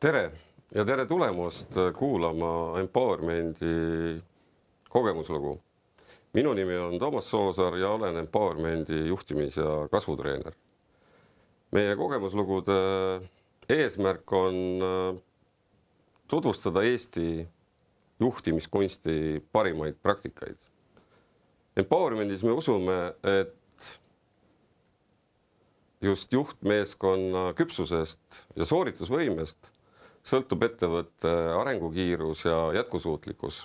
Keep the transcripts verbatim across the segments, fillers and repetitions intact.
Tere ja tere tulemust kuulama Empowermendi kogemuslugu. Minu nimi on Toomas Soosaar ja olen Empowermendi juhtimis- ja kasvutreener. Meie kogemuslugude eesmärk on tutvustada Eesti juhtimiskunsti parimaid praktikaid. Empowermendis me usume, et just juhtmeeskonna küpsusest ja sooritusvõimest sõltub ettevõtte arengukiirus ja jätkusuutlikkus.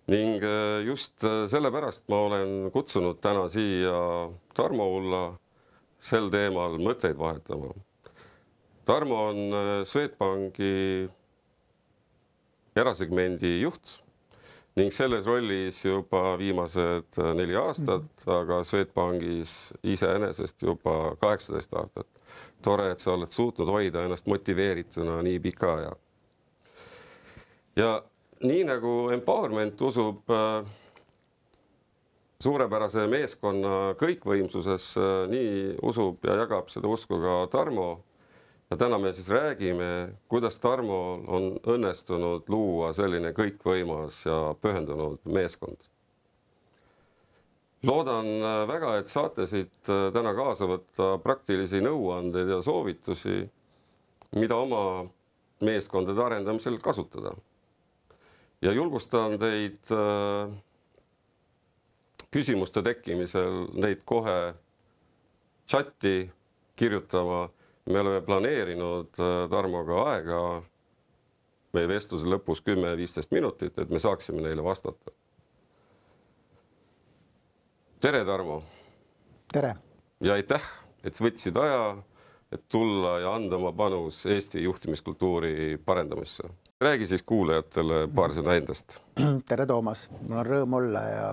Ning just sellepärast ma olen kutsunud täna siia Tarmo Ulla sel teemal mõtteid vahetama. Tarmo on Swedbanki erasegmendi juht ning selles rollis juba viimased neli aastat, aga Swedbankis iseenesest juba kaheksateist aastat. Tore, et sa oled suutnud hoida ennast motiveerituna nii pika aja. Ja nii nagu Empowerment usub suurepärase meeskonna kõikvõimsuses, nii usub ja jagab seda usku ka Tarmo. Ja täna me siis räägime, kuidas Tarmol on õnnestunud luua selline kõikvõimas ja pühendunud meeskond. Loodan väga, et saate siit täna kaasa võtta praktilisi nõuandeid ja soovitusi, mida oma meeskondade arendamisel kasutada. Ja julgustan teid küsimuste tekkimisel neid kohe chati kirjutama. Me oleme planeerinud Tarmoga aega meie vestluse lõpus kümme viisteist minutit, et me saaksime neile vastata. Tere, Tarmo! Tere! Ja aitäh, et võtsid aja, et tulla ja anda oma panus Eesti juhtimiskultuuri parendamisse. Räägi siis kuulajatele paar sõna endast. Tere, Toomas! Mul on rõõm olla ja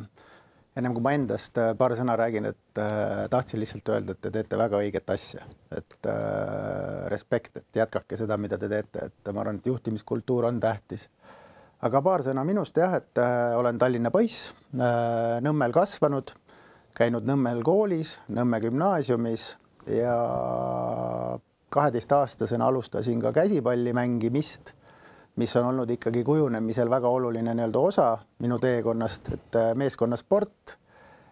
ennem kui ma endast paar sõna räägin, et äh, tahtsin lihtsalt öelda, et te teete väga õiget asja. Et äh, respekt, et jätkake seda, mida te teete. Et ma arvan, et juhtimiskultuur on tähtis. Aga paar sõna minust jah, et äh, olen Tallinna poiss, äh, Nõmmel kasvanud, käinud Nõmmel koolis, Nõmme gümnaasiumis ja kaheteistaastasena alustasin ka käsipalli mängimist, mis on olnud ikkagi kujunemisel väga oluline nii-öelda osa minu teekonnast, et meeskonnasport.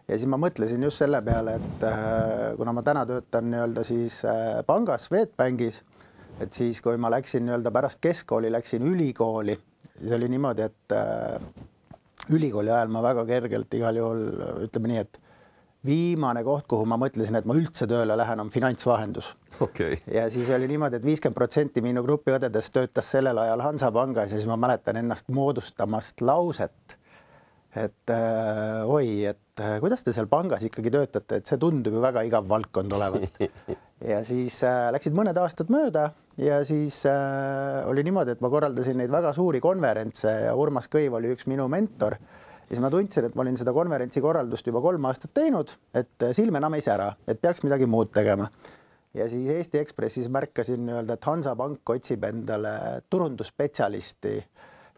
Ja siis ma mõtlesin just selle peale, et kuna ma täna töötan nii-öelda siis pangas, Swedbankis, et siis kui ma läksin nii-öelda pärast keskkooli, läksin ülikooli, siis oli niimoodi, et ülikooli ajal ma väga kergelt igal juhul ütleme nii, et viimane koht, kuhu ma mõtlesin, et ma üldse tööle lähen, on finantsvahendus. Okay. Ja siis oli niimoodi, et viiskümmend protsenti minu grupi õdedest töötas sellel ajal Hansapangas ja siis ma mäletan ennast moodustamast lauset, et äh, oi, et äh, kuidas te seal pangas ikkagi töötate, et see tundub ju väga igav valdkond olevat. Ja siis äh, läksid mõned aastad mööda ja siis äh, oli niimoodi, et ma korraldasin neid väga suuri konverentse ja Urmas Kõiv oli üks minu mentor. Ja siis ma tundsin, et ma olin seda konverentsi korraldust juba kolm aastat teinud, et silm enam ei sära, et peaks midagi muud tegema. Ja siis Eesti Ekspressis märkasin öelda, et Hansapank otsib endale turundusspetsialisti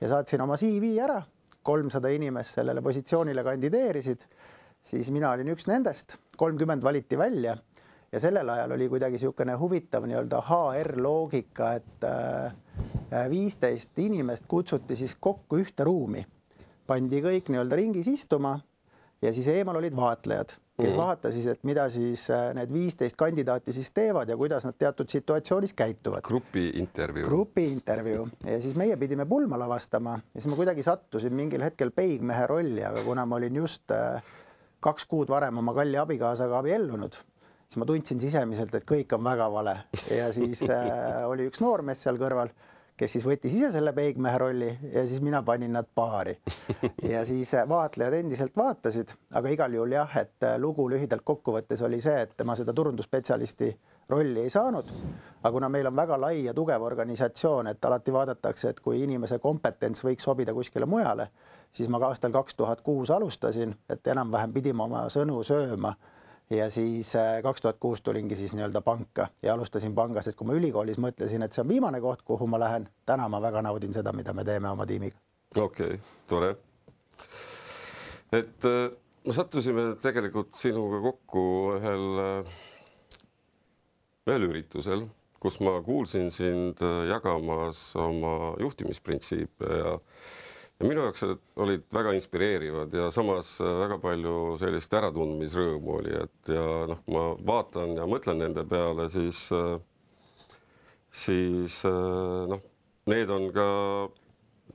ja saatsin oma C V ära. kolmsada inimest sellele positsioonile kandideerisid. Siis mina olin üks nendest, kolmkümmend valiti välja ja sellel ajal oli kuidagi niisugune huvitav nii-öelda H R loogika, et viisteist inimest kutsuti siis kokku ühte ruumi. Pandi kõik nii-öelda ringis istuma ja siis eemal olid vaatlejad, kes mm-hmm. vaatasid, et mida siis need viisteist kandidaati siis teevad ja kuidas nad teatud situatsioonis käituvad. Grupi intervjuu. Grupi intervjuu. Ja siis meie pidime pulma lavastama ja siis ma kuidagi sattusin mingil hetkel peigmehe rolli, aga kuna ma olin just kaks kuud varem oma kalli abikaasaga abiellunud, siis ma tundsin sisemiselt, et kõik on väga vale. Ja siis oli üks noormees seal kõrval, kes siis võttis ise selle peigmehe rolli ja siis mina panin nad paari. Ja siis vaatlejad endiselt vaatasid, aga igal juhul jah, et lugu lühidalt kokkuvõttes oli see, et ma seda turundusspetsialisti rolli ei saanud. Aga kuna meil on väga lai ja tugev organisatsioon, et alati vaadatakse, et kui inimese kompetents võiks sobida kuskile mujale, siis ma aastal kaks tuhat kuus alustasin, et enam-vähem pidime oma sõnu sööma. Ja siis kaks tuhat kuus tulingi siis nii-öelda panka ja alustasin pangas, et kui ma ülikoolis mõtlesin, et see on viimane koht, kuhu ma lähen, täna ma väga naudin seda, mida me teeme oma tiimiga. Okei, tore. Et me sattusime tegelikult sinuga kokku ühel, ühel üritusel, kus ma kuulsin sind jagamas oma juhtimisprintsiipe ja, ja minu jaoks olid väga inspireerivad ja samas väga palju sellist äratundmisrõõmu oli, et ja noh, ma vaatan ja mõtlen nende peale, siis, siis noh, need on ka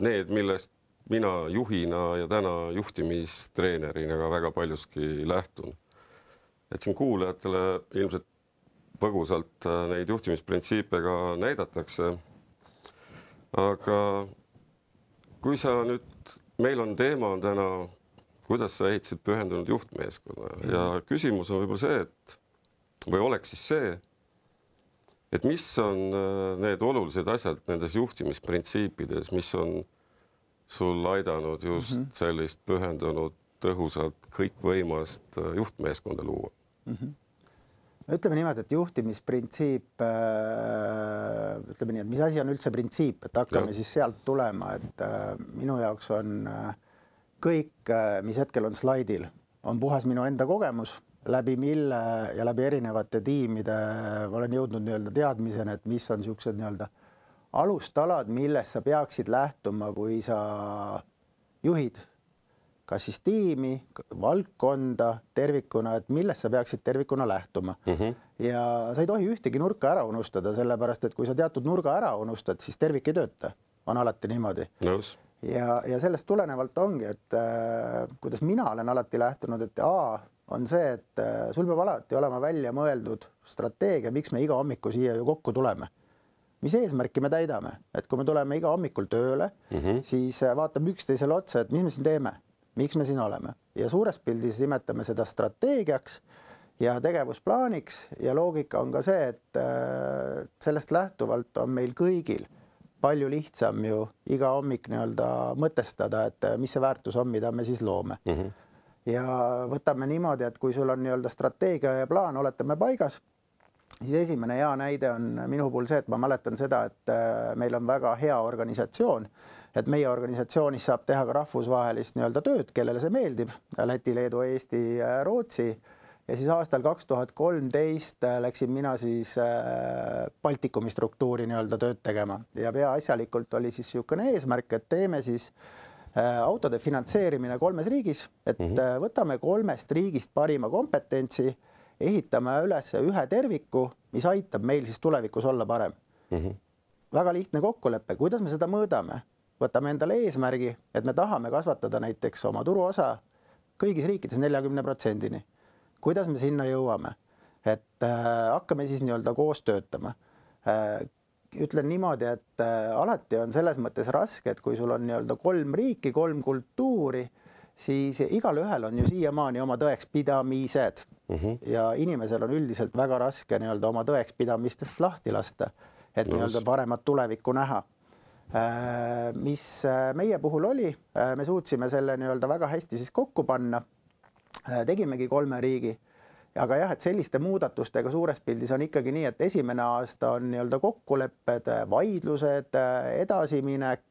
need, millest mina juhina ja täna juhtimistreenerina ka väga paljuski lähtun. Et siin kuulajatele ilmselt põgusalt neid juhtimisprintsiipe ka näidatakse. Aga kui sa nüüd, meil on teema on täna, kuidas sa ehitasid pühendunud juhtmeeskonna ja küsimus on võib-olla see, et või oleks siis see, et mis on need olulised asjad nendes juhtimisprintsiipides, mis on sul aidanud just mm -hmm. sellist pühendunud, tõhusalt kõikvõimast juhtmeeskonda luua? Mm -hmm. Ütleme niimoodi, et juhtimisprintsiip, ütleme nii, et mis asi on üldse printsiip, et hakkame ja. siis sealt tulema, et minu jaoks on kõik, mis hetkel on slaidil, on puhas minu enda kogemus, läbi mille ja läbi erinevate tiimide olen jõudnud nii-öelda teadmisena, et mis on niisugused nii-öelda alustalad, millest sa peaksid lähtuma, kui sa juhid kas siis tiimi, valdkonda tervikuna, et millest sa peaksid tervikuna lähtuma. Mm -hmm. Ja sa ei tohi ühtegi nurka ära unustada, sellepärast, et kui sa teatud nurga ära unustad, siis tervik ei tööta. On alati niimoodi. Nõus. Ja, ja sellest tulenevalt ongi, et äh, kuidas mina olen alati lähtunud, et A on see, et äh, sul peab alati olema välja mõeldud strateegia, miks me iga hommiku siia ju kokku tuleme. Mis eesmärki me täidame, et kui me tuleme iga hommikul tööle, mm -hmm. siis vaatame üksteisele otsa, et mis me siin teeme, miks me siin oleme ja suures pildis nimetame seda strateegiaks ja tegevusplaaniks ja loogika on ka see, et sellest lähtuvalt on meil kõigil palju lihtsam ju iga hommik nii-öelda mõtestada, et mis see väärtus on, mida me siis loome. Mm -hmm. Ja võtame niimoodi, et kui sul on nii-öelda strateegia ja plaan, oletame paigas, siis esimene hea näide on minu puhul see, et ma mäletan seda, et meil on väga hea organisatsioon, et meie organisatsioonis saab teha ka rahvusvahelist nii-öelda tööd, kellele see meeldib, Läti, Leedu, Eesti, Rootsi. Ja siis aastal kaks tuhat kolmteist läksin mina siis Baltikumi struktuuri nii-öelda tööd tegema ja peaasjalikult oli siis niisugune eesmärk, et teeme siis autode finantseerimine kolmes riigis, et mm -hmm. võtame kolmest riigist parima kompetentsi, ehitame üles ühe terviku, mis aitab meil siis tulevikus olla parem. Mm -hmm. Väga lihtne kokkulepe, kuidas me seda mõõdame? Võtame endale eesmärgi, et me tahame kasvatada näiteks oma turuosa kõigis riikides neljakümne protsendini. Kuidas me sinna jõuame? Et äh, hakkame siis nii-öelda koos töötama. Äh, ütlen niimoodi, et äh, alati on selles mõttes raske, et kui sul on nii-öelda kolm riiki, kolm kultuuri, siis igal ühel on ju siiamaani oma tõekspidamised. Mm -hmm. Ja inimesel on üldiselt väga raske nii-öelda oma tõekspidamistest lahti lasta, et no, nii-öelda paremat tulevikku näha. Mis meie puhul oli, me suutsime selle nii-öelda väga hästi siis kokku panna, tegimegi kolme riigi, aga jah, et selliste muudatustega suures pildis on ikkagi nii, et esimene aasta on nii-öelda kokkulepped, vaidlused, edasiminek,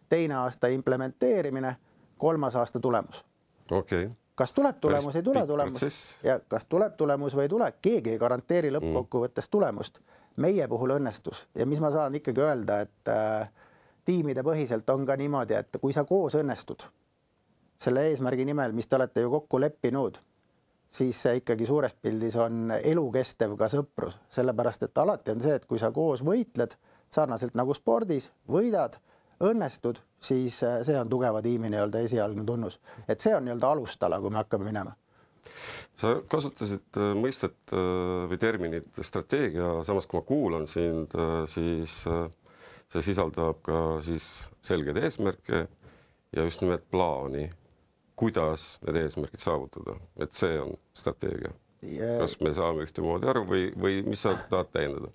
teine aasta implementeerimine, kolmas aasta tulemus. Okay. Kas tuleb tulemus, ei tule tulemus ja kas tuleb tulemus või ei tule, keegi ei garanteeri lõppkokkuvõttes tulemust. Meie puhul õnnestus ja mis ma saan ikkagi öelda, et äh, tiimide põhiselt on ka niimoodi, et kui sa koos õnnestud selle eesmärgi nimel, mis te olete ju kokku leppinud, siis see ikkagi suures pildis on elukestev ka sõprus, sellepärast et alati on see, et kui sa koos võitled, sarnaselt nagu spordis, võidad, õnnestud, siis see on tugeva tiimi nii-öelda esialgne tunnus. Et see on nii-öelda alustala, kui me hakkame minema. Sa kasutasid mõistet või terminit strateegia, samas kui ma kuulan sind, siis see sisaldab ka siis selgeid eesmärke ja just nimelt plaani, kuidas need eesmärgid saavutada, et see on strateegia. Ja... Kas me saame ühtemoodi aru või, või mis sa tahad täiendada?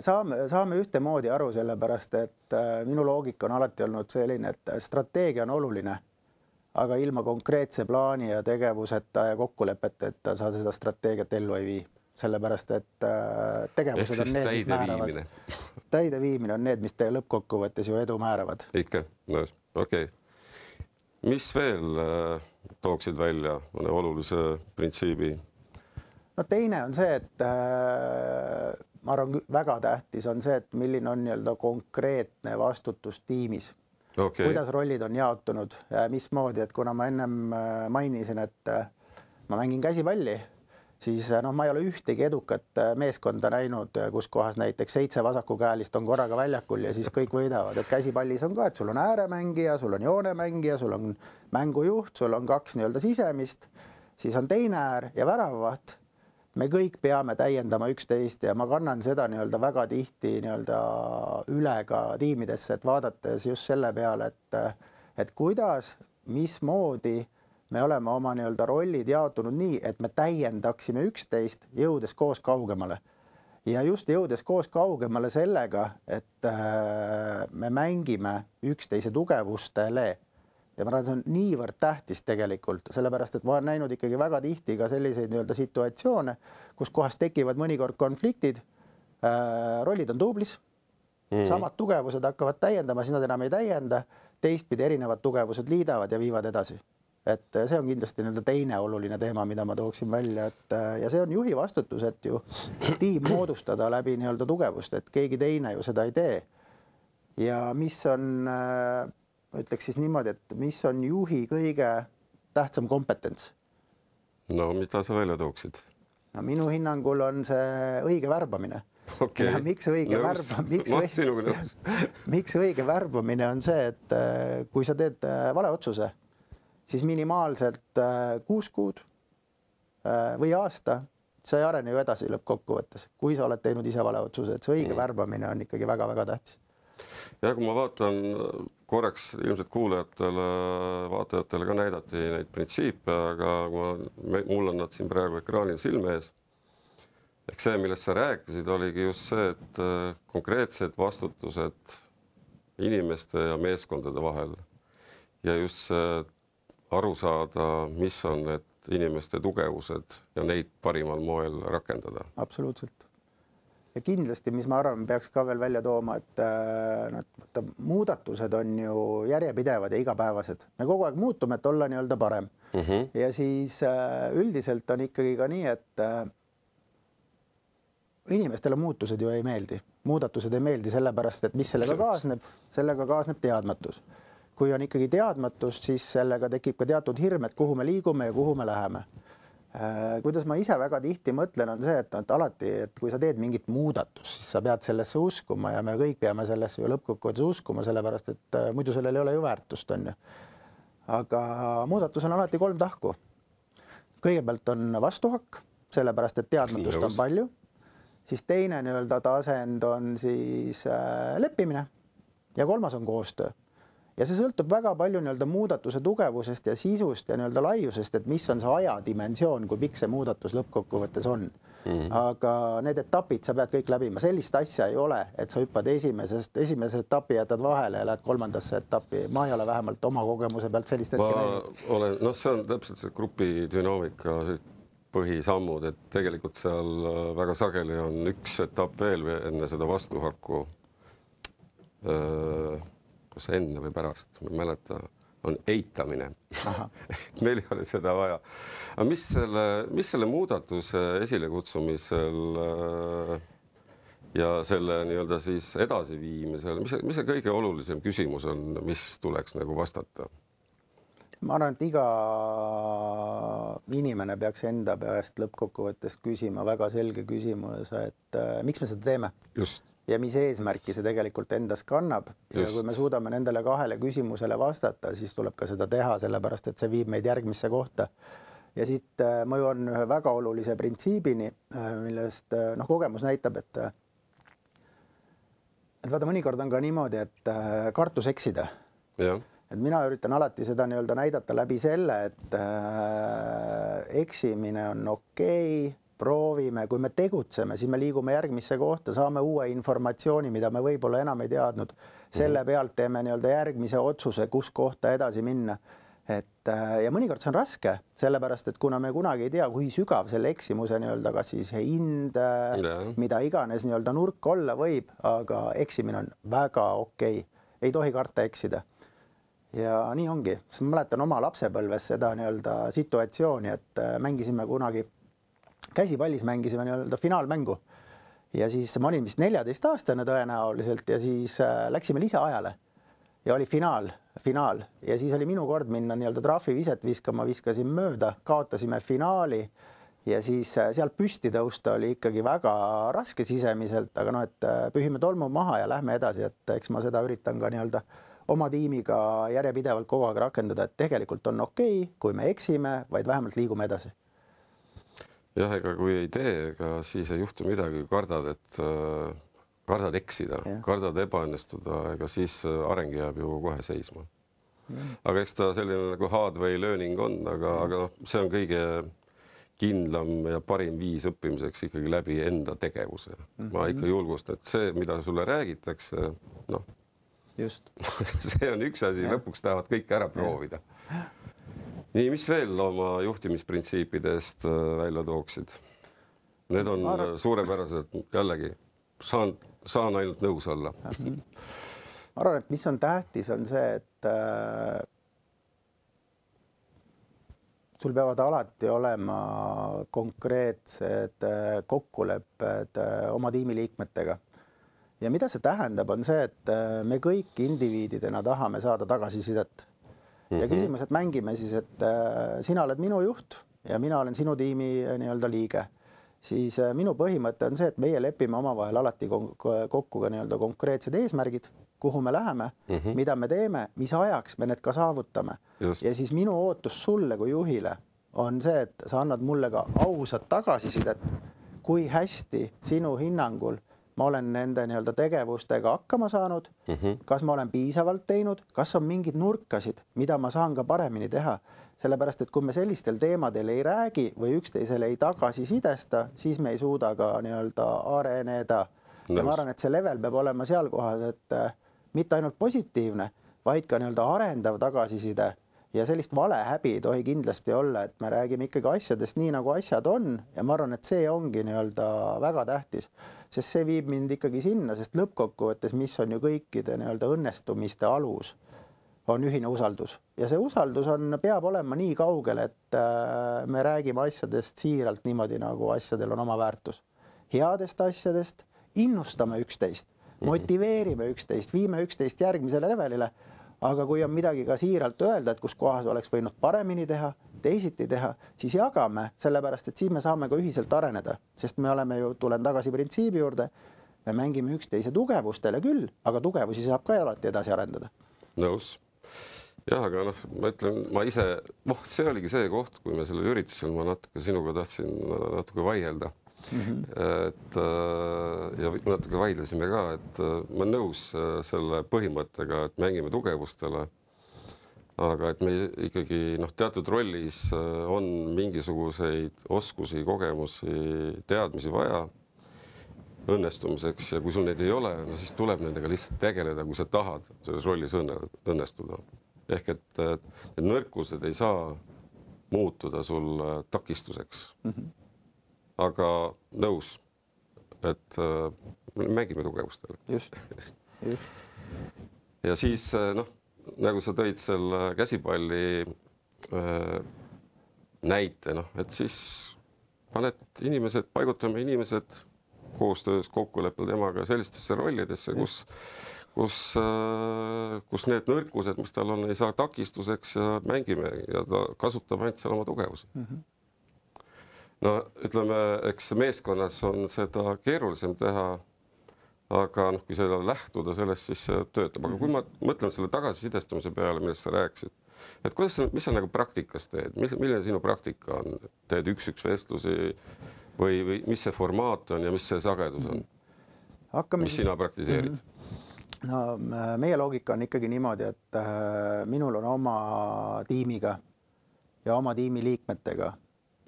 Saame, saame ühtemoodi aru, sellepärast, et minu loogika on alati olnud selline, et strateegia on oluline, aga ilma konkreetse plaani ja tegevuseta ja kokkulepeteta sa seda strateegiat ellu ei vii. Sellepärast, et tegevused on need, mis määravad. Täide viimine on need, mis te lõppkokkuvõttes ju edu määravad. Ikka, no, okei. Okay. Mis veel tooksid välja mõne olulise printsiibi? No teine on see, et ma arvan, väga tähtis on see, et milline on nii-öelda konkreetne vastutus tiimis. Okay. Kuidas rollid on jaotunud ja mismoodi, et kuna ma ennem mainisin, et ma mängin käsipalli, siis noh, ma ei ole ühtegi edukat meeskonda näinud, kus kohas näiteks seitse vasakukäelist on korraga väljakul ja siis kõik võidavad. Et käsipallis on ka, et sul on ääremängija, sul on joonemängija, sul on mängujuht, sul on kaks nii-öelda sisemist, siis on teine äär ja väravavaht. Me kõik peame täiendama üksteist ja ma kannan seda nii-öelda väga tihti nii-öelda üle ka tiimidesse, et vaadates just selle peale, et, et kuidas, mismoodi me oleme oma nii-öelda rollid jaotunud nii, et me täiendaksime üksteist, jõudes koos kaugemale. Ja just jõudes koos kaugemale sellega, et me mängime üksteise tugevustele. Ja ma arvan, see on niivõrd tähtis tegelikult, sellepärast, et ma olen näinud ikkagi väga tihti ka selliseid nii-öelda situatsioone, kus kohas tekivad mõnikord konfliktid, äh, rollid on duublis, mm. samad tugevused hakkavad täiendama, siis nad enam ei täienda, teistpidi erinevad tugevused liidavad ja viivad edasi. Et see on kindlasti nii-öelda teine oluline teema, mida ma tooksin välja, et ja see on juhi vastutus, et ju tiim moodustada läbi nii-öelda tugevust, et keegi teine ju seda ei tee. Ja mis on... Äh, ma ütleks siis niimoodi, et mis on juhi kõige tähtsam kompetents? No, mida sa välja tooksid? No, minu hinnangul on see õige värbamine. Okay. Ja miks õige nõus. Värba, miks, Ma, õige, miks õige värbamine on see, et kui sa teed vale otsuse, siis minimaalselt kuus kuud või aasta, sa ei arene ju edasi lõppkokkuvõttes, kui sa oled teinud ise vale otsuse, et see õige mm. värbamine on ikkagi väga-väga tähtis. Ja kui ma vaatan korraks ilmselt kuulajatele, vaatajatele ka näidati neid printsiipe, aga ma, mul on nad siin praegu ekraanil silme ees. Ehk see, millest sa rääkisid, oligi just see, et konkreetsed vastutused inimeste ja meeskondade vahel ja just see aru saada, mis on need inimeste tugevused ja neid parimal moel rakendada. Absoluutselt. Ja kindlasti, mis ma arvan, peaks ka veel välja tooma, et no, muudatused on ju järjepidevad ja igapäevased. Me kogu aeg muutume, et olla nii-öelda parem. Mm -hmm. Ja siis üldiselt on ikkagi ka nii, et inimestele muutused ju ei meeldi. Muudatused ei meeldi sellepärast, et mis sellega kaasneb, sellega kaasneb teadmatus. Kui on ikkagi teadmatus, siis sellega tekib ka teatud hirm, et kuhu me liigume ja kuhu me läheme. Kuidas ma ise väga tihti mõtlen, on see, et, et alati, et kui sa teed mingit muudatus, siis sa pead sellesse uskuma ja me kõik peame sellesse ju lõppkokkuvõttes uskuma, sellepärast, et muidu sellel ei ole ju väärtust, on ju. Aga muudatus on alati kolm tahku. Kõigepealt on vastuhakk, sellepärast, et teadmatust on palju. Siis teine nii-öelda tasend on siis leppimine ja kolmas on koostöö. Ja see sõltub väga palju nii-öelda muudatuse tugevusest ja sisust ja nii-öelda laiusest, et mis on see ajadimensioon, kui pikk see muudatus lõppkokkuvõttes on. Mm-hmm. Aga need etapid sa pead kõik läbima. Sellist asja ei ole, et sa hüppad esimesest, esimese etapi jätad vahele ja lähed kolmandasse etappi. Ma ei ole vähemalt oma kogemuse pealt sellist hetke näinud. Olen, noh, see on täpselt see grupi dünaamika põhisammud, et tegelikult seal väga sageli on üks etapp veel enne seda vastuhakku. Kas enne või pärast, ma ei mäleta, on eitamine. Meil ei ole seda vaja. Aga mis selle, mis selle muudatuse esilekutsumisel ja selle nii-öelda siis edasiviimisel, mis, mis see kõige olulisem küsimus on, mis tuleks nagu vastata? Ma arvan, et iga inimene peaks enda peast lõppkokkuvõttes küsima väga selge küsimus, et miks me seda teeme? Just. Ja mis eesmärki see tegelikult endas kannab. Ja kui me suudame nendele kahele küsimusele vastata, siis tuleb ka seda teha, sellepärast, et see viib meid järgmisse kohta. Ja siit ma jõuan ühe väga olulise printsiibini, millest noh, kogemus näitab, et, et vaata, mõnikord on ka niimoodi, et kartus eksida. Ja. Et mina üritan alati seda nii-öelda näidata läbi selle, et eksimine on okei, proovime, kui me tegutseme, siis me liigume järgmisse kohta, saame uue informatsiooni, mida me võib-olla enam ei teadnud. Selle pealt teeme nii-öelda järgmise otsuse, kus kohta edasi minna. Et, ja mõnikord see on raske, sellepärast, et kuna me kunagi ei tea, kui sügav selle eksimuse nii-öelda kas siis hind, yeah. mida iganes nii-öelda nurk olla võib, aga eksimine on väga okei. Ei tohi karta eksida. Ja nii ongi. Sest ma mäletan oma lapsepõlves seda nii-öelda situatsiooni, et mängisime kunagi käsipallis mängisime nii-öelda finaalmängu ja siis ma olin vist neljateist aastane tõenäoliselt ja siis läksime lisaajale ja oli finaal, finaal ja siis oli minu kord minna nii-öelda trahviviset viskama, viskasin mööda, kaotasime finaali ja siis sealt püsti tõusta oli ikkagi väga raske sisemiselt, aga noh, et pühime tolmu maha ja lähme edasi, et eks ma seda üritan ka nii-öelda oma tiimiga järjepidevalt kogu aeg rakendada, et tegelikult on okei, kui me eksime, vaid vähemalt liigume edasi. Jah, ega kui ei tee, ega siis ei juhtu midagi, kardad, et äh, kardad eksida, ja. Kardad ebaõnnestuda, ega siis areng jääb ju kohe seisma. Ja. Aga eks ta selline nagu hardway learning on, aga, aga noh, see on kõige kindlam ja parim viis õppimiseks ikkagi läbi enda tegevuse. Mm-hmm. Ma ikka julgustan, et see, mida sulle räägitakse, noh, just. see on üks asi, ja. Lõpuks tahavad kõik ära proovida. Ja. Nii, mis veel oma juhtimisprintsiipidest välja tooksid? Need on Arv... suurepärased, jällegi, saan, saan ainult nõus olla. Ma arvan, et mis on tähtis, on see, et äh, sul peavad alati olema konkreetsed äh, kokkulepped äh, oma tiimiliikmetega. Ja mida see tähendab, on see, et äh, me kõik indiviididena tahame saada tagasisidet. Ja küsimus, et mängime siis, et äh, sina oled minu juht ja mina olen sinu tiimi nii-öelda liige. Siis äh, minu põhimõte on see, et meie lepime omavahel alati kokku ka nii-öelda konkreetsed eesmärgid, kuhu me läheme, mm -hmm. mida me teeme, mis ajaks me need ka saavutame. Just. Ja siis minu ootus sulle kui juhile on see, et sa annad mulle ka ausat tagasisidet, kui hästi sinu hinnangul ma olen nende nii-öelda tegevustega hakkama saanud, mm -hmm. kas ma olen piisavalt teinud, kas on mingid nurkasid, mida ma saan ka paremini teha. Sellepärast, et kui me sellistel teemadel ei räägi või üksteisele ei tagasisidesta, siis me ei suuda ka nii-öelda areneda. Ja ma arvan, et see level peab olema seal kohas, et äh, mitte ainult positiivne, vaid ka nii-öelda arendav tagasiside. Ja sellist valehäbi ei tohi kindlasti olla, et me räägime ikkagi asjadest nii, nagu asjad on. Ja ma arvan, et see ongi nii-öelda väga tähtis, sest see viib mind ikkagi sinna, sest lõppkokkuvõttes, mis on ju kõikide nii-öelda õnnestumiste alus, on ühine usaldus. Ja see usaldus on, peab olema nii kaugel, et me räägime asjadest siiralt niimoodi, nagu asjadel on oma väärtus. Headest asjadest innustame üksteist, motiveerime üksteist, viime üksteist järgmisele levelile. Aga kui on midagi ka siiralt öelda, et kus kohas oleks võinud paremini teha, teisiti teha, siis jagame, sellepärast, et siis me saame ka ühiselt areneda, sest me oleme ju, tulen tagasi printsiibi juurde, me mängime üksteise tugevustele küll, aga tugevusi saab ka alati edasi arendada. Nõus. Jah, aga noh, ma ütlen, ma ise, oh, see oligi see koht, kui me selle üritusel, ma natuke sinuga tahtsin natuke vaielda. Mm-hmm. Et, ja natuke vaidlesime ka, et ma nõus selle põhimõttega, et mängime tugevustele, aga et me ikkagi noh, teatud rollis on mingisuguseid oskusi, kogemusi, teadmisi vaja õnnestumiseks ja kui sul neid ei ole, no siis tuleb nendega lihtsalt tegeleda, kui sa tahad selles rollis õnne, õnnestuda. Ehk et, et need nõrkused ei saa muutuda sul takistuseks. Mm-hmm. Aga nõus, et äh, mängime tugevustele. Just. Just. Ja siis noh, nagu sa tõid selle käsipalli äh, näite, noh, et siis paned inimesed, paigutame inimesed koostöös kokkuleppel temaga sellistesse rollidesse, kus, kus, äh, kus need nõrkused, mis tal on, ei saa takistuseks ja mängime ja ta kasutab ainult seal oma tugevusi. Mm-hmm. No ütleme, eks meeskonnas on seda keerulisem teha, aga noh, kui seda lähtuda sellest, siis see töötab. Aga kui ma mõtlen selle tagasisidestamise peale, millest sa rääkisid, et kuidas, mis sa nagu praktikas teed? Milline sinu praktika on? Teed üks-üks vestlusi või, või mis see formaat on ja mis see sagedus on? Hakkame mis sina praktiseerid? No, meie loogika on ikkagi niimoodi, et minul on oma tiimiga ja oma tiimi liikmetega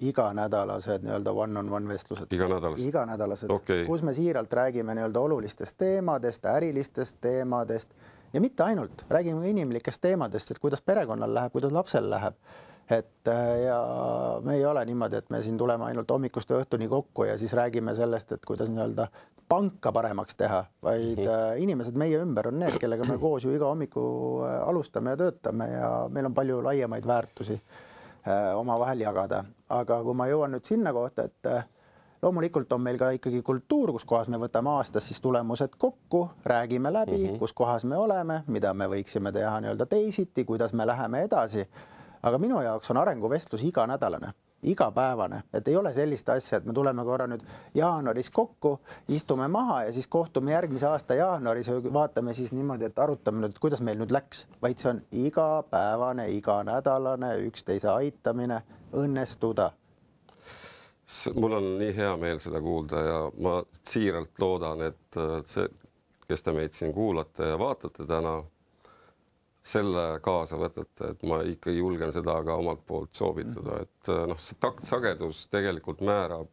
iganädalased nii-öelda one-on-one vestlused. Iganädalased? Iganädalased, okay. Kus me siiralt räägime nii-öelda olulistest teemadest, ärilistest teemadest ja mitte ainult, räägime inimlikest teemadest, et kuidas perekonnal läheb, kuidas lapsel läheb. Et ja me ei ole niimoodi, et me siin tuleme ainult hommikust õhtuni kokku ja siis räägime sellest, et kuidas nii-öelda panka paremaks teha, vaid mm. inimesed meie ümber on need, kellega me koos ju iga hommiku alustame ja töötame ja meil on palju laiemaid väärtusi oma vahel jagada. Aga kui ma jõuan nüüd sinna kohta, et loomulikult on meil ka ikkagi kultuur, kus kohas me võtame aastas siis tulemused kokku, räägime läbi, mm -hmm. kus kohas me oleme, mida me võiksime teha nii-öelda teisiti, kuidas me läheme edasi. Aga minu jaoks on arenguvestlus iganädalane, igapäevane, et ei ole sellist asja, et me tuleme korra nüüd jaanuaris kokku, istume maha ja siis kohtume järgmise aasta jaanuaris ja vaatame siis niimoodi, et arutame nüüd, kuidas meil nüüd läks, vaid see on igapäevane, iganädalane, üksteise aitamine, õnnestuda. Mul on nii hea meel seda kuulda ja ma siiralt loodan, et see, kes te meid siin kuulate ja vaatate täna, selle kaasa võtate, et ma ikka julgen seda ka omalt poolt soovitada, et noh, see taktsagedus tegelikult määrab,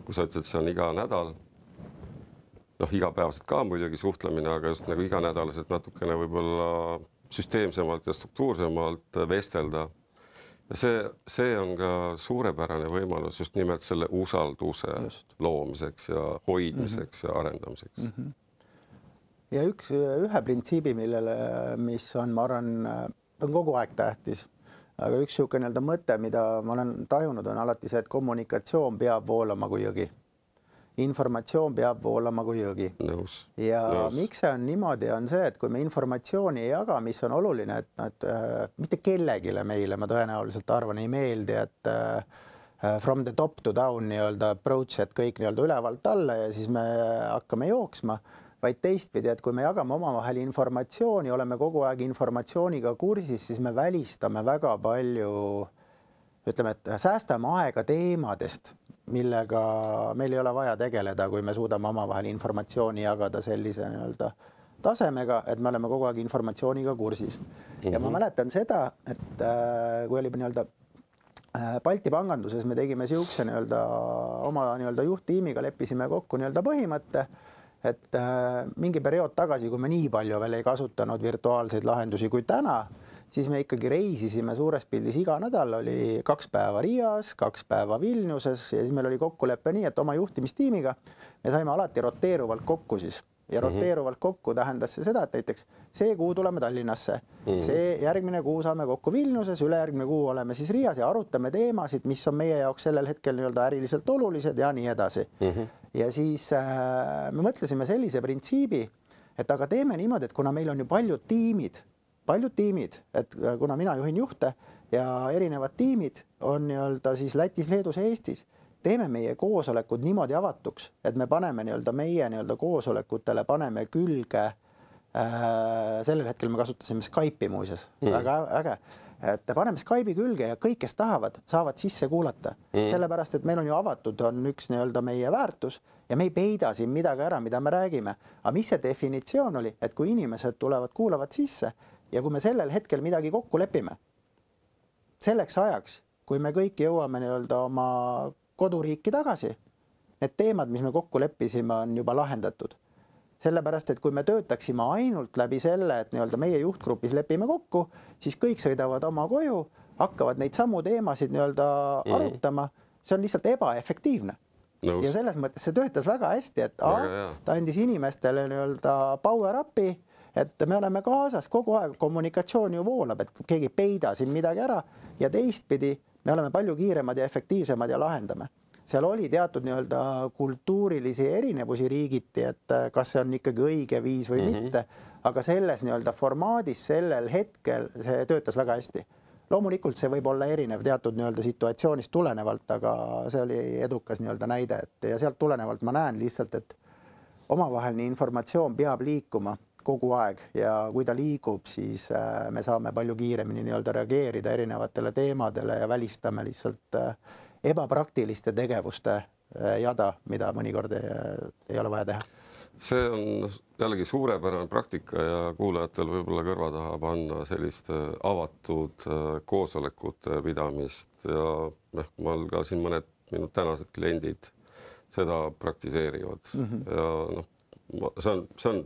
kui sa ütled, see on iga nädal, noh, igapäevaselt ka muidugi suhtlemine, aga just nagu iganädalaselt natukene võib-olla süsteemsemalt ja struktuursemalt vestelda. Ja see, see on ka suurepärane võimalus just nimelt selle usalduse just. loomiseks ja hoidmiseks mm -hmm. ja arendamiseks. Mm -hmm. Ja üks, ühe printsiibi, millele, mis on, ma arvan, on kogu aeg tähtis, aga üks niisugune nii-öelda mõte, mida ma olen tajunud, on alati see, et kommunikatsioon peab voolama kui jõgi. Informatsioon peab voolama kui jõgi. Nõus. Ja Nõus. miks see on niimoodi, on see, et kui me informatsiooni ei jaga, mis on oluline, et, et äh, mitte kellegile meile, ma tõenäoliselt arvan, ei meeldi, et äh, from the top to down nii-öelda approach, et kõik nii-öelda ülevalt alla ja siis me hakkame jooksma, vaid teistpidi, et kui me jagame omavahel informatsiooni, oleme kogu aeg informatsiooniga kursis, siis me välistame väga palju, ütleme, et säästame aega teemadest, millega meil ei ole vaja tegeleda, kui me suudame omavahel informatsiooni jagada sellise nii-öelda tasemega, et me oleme kogu aeg informatsiooniga kursis. Mm-hmm. Ja ma mäletan seda, et äh, kui oli nii-öelda äh, Balti panganduses, me tegime siukse nii-öelda oma nii-öelda juhttiimiga leppisime kokku nii-öelda põhimõtte, et äh, mingi periood tagasi, kui me nii palju veel ei kasutanud virtuaalseid lahendusi kui täna, siis me ikkagi reisisime suures pildis iga nädal, oli kaks päeva Riias, kaks päeva Vilniuses ja siis meil oli kokkulepe nii, et oma juhtimistiimiga me saime alati roteeruvalt kokku siis. Ja roteeruvalt kokku tähendas see seda, et näiteks see kuu tuleme Tallinnasse, mm-hmm. see järgmine kuu saame kokku Vilniuses, ülejärgmine kuu oleme siis Riias ja arutame teemasid, mis on meie jaoks sellel hetkel nii-öelda äriliselt olulised ja nii edasi. Mm-hmm. Ja siis äh, me mõtlesime sellise printsiibi, et aga teeme niimoodi, et kuna meil on ju paljud tiimid, paljud tiimid, et kuna mina juhin juhte ja erinevad tiimid on nii-öelda siis Lätis, Leedus ja Eestis, teeme meie koosolekud niimoodi avatuks, et me paneme nii-öelda meie nii-öelda koosolekutele, paneme külge, äh, sellel hetkel me kasutasime Skype'i muuses, mm. väga äge, et paneme Skype'i külge ja kõik, kes tahavad, saavad sisse kuulata. Mm. Sellepärast, et meil on ju avatud, on üks nii-öelda meie väärtus ja me ei peida siin midagi ära, mida me räägime. Aga mis see definitsioon oli, et kui inimesed tulevad, kuulavad sisse ja kui me sellel hetkel midagi kokku lepime, selleks ajaks, kui me kõik jõuame nii-öelda oma koduriiki tagasi, need teemad, mis me kokku leppisime, on juba lahendatud. Sellepärast, et kui me töötaksime ainult läbi selle, et nii-öelda meie juhtgrupis lepime kokku, siis kõik sõidavad oma koju, hakkavad neid samu teemasid nii-öelda mm. arutama. See on lihtsalt ebaefektiivne. Nõus. Ja selles mõttes see töötas väga hästi, et a, ta andis inimestele nii-öelda power upi, et me oleme kaasas kogu aeg, kommunikatsioon ju voolab, et keegi peida siin midagi ära ja teistpidi me oleme palju kiiremad ja efektiivsemad ja lahendame. Seal oli teatud nii-öelda kultuurilisi erinevusi riigiti, et kas see on ikkagi õige viis või mm-hmm. mitte, aga selles nii-öelda formaadis sellel hetkel see töötas väga hästi. Loomulikult see võib olla erinev teatud nii-öelda situatsioonist tulenevalt, aga see oli edukas nii-öelda näide, et ja sealt tulenevalt ma näen lihtsalt, et omavaheline informatsioon peab liikuma kogu aeg ja kui ta liigub, siis me saame palju kiiremini nii-öelda reageerida erinevatele teemadele ja välistame lihtsalt ebapraktiliste tegevuste jada, mida mõnikord ei, ei ole vaja teha. See on jällegi suurepärane praktika ja kuulajatel võib-olla kõrva taha panna sellist avatud koosolekute pidamist ja noh, ma ka siin mõned minu tänased kliendid seda praktiseerivad mm-hmm. ja noh, see on, see on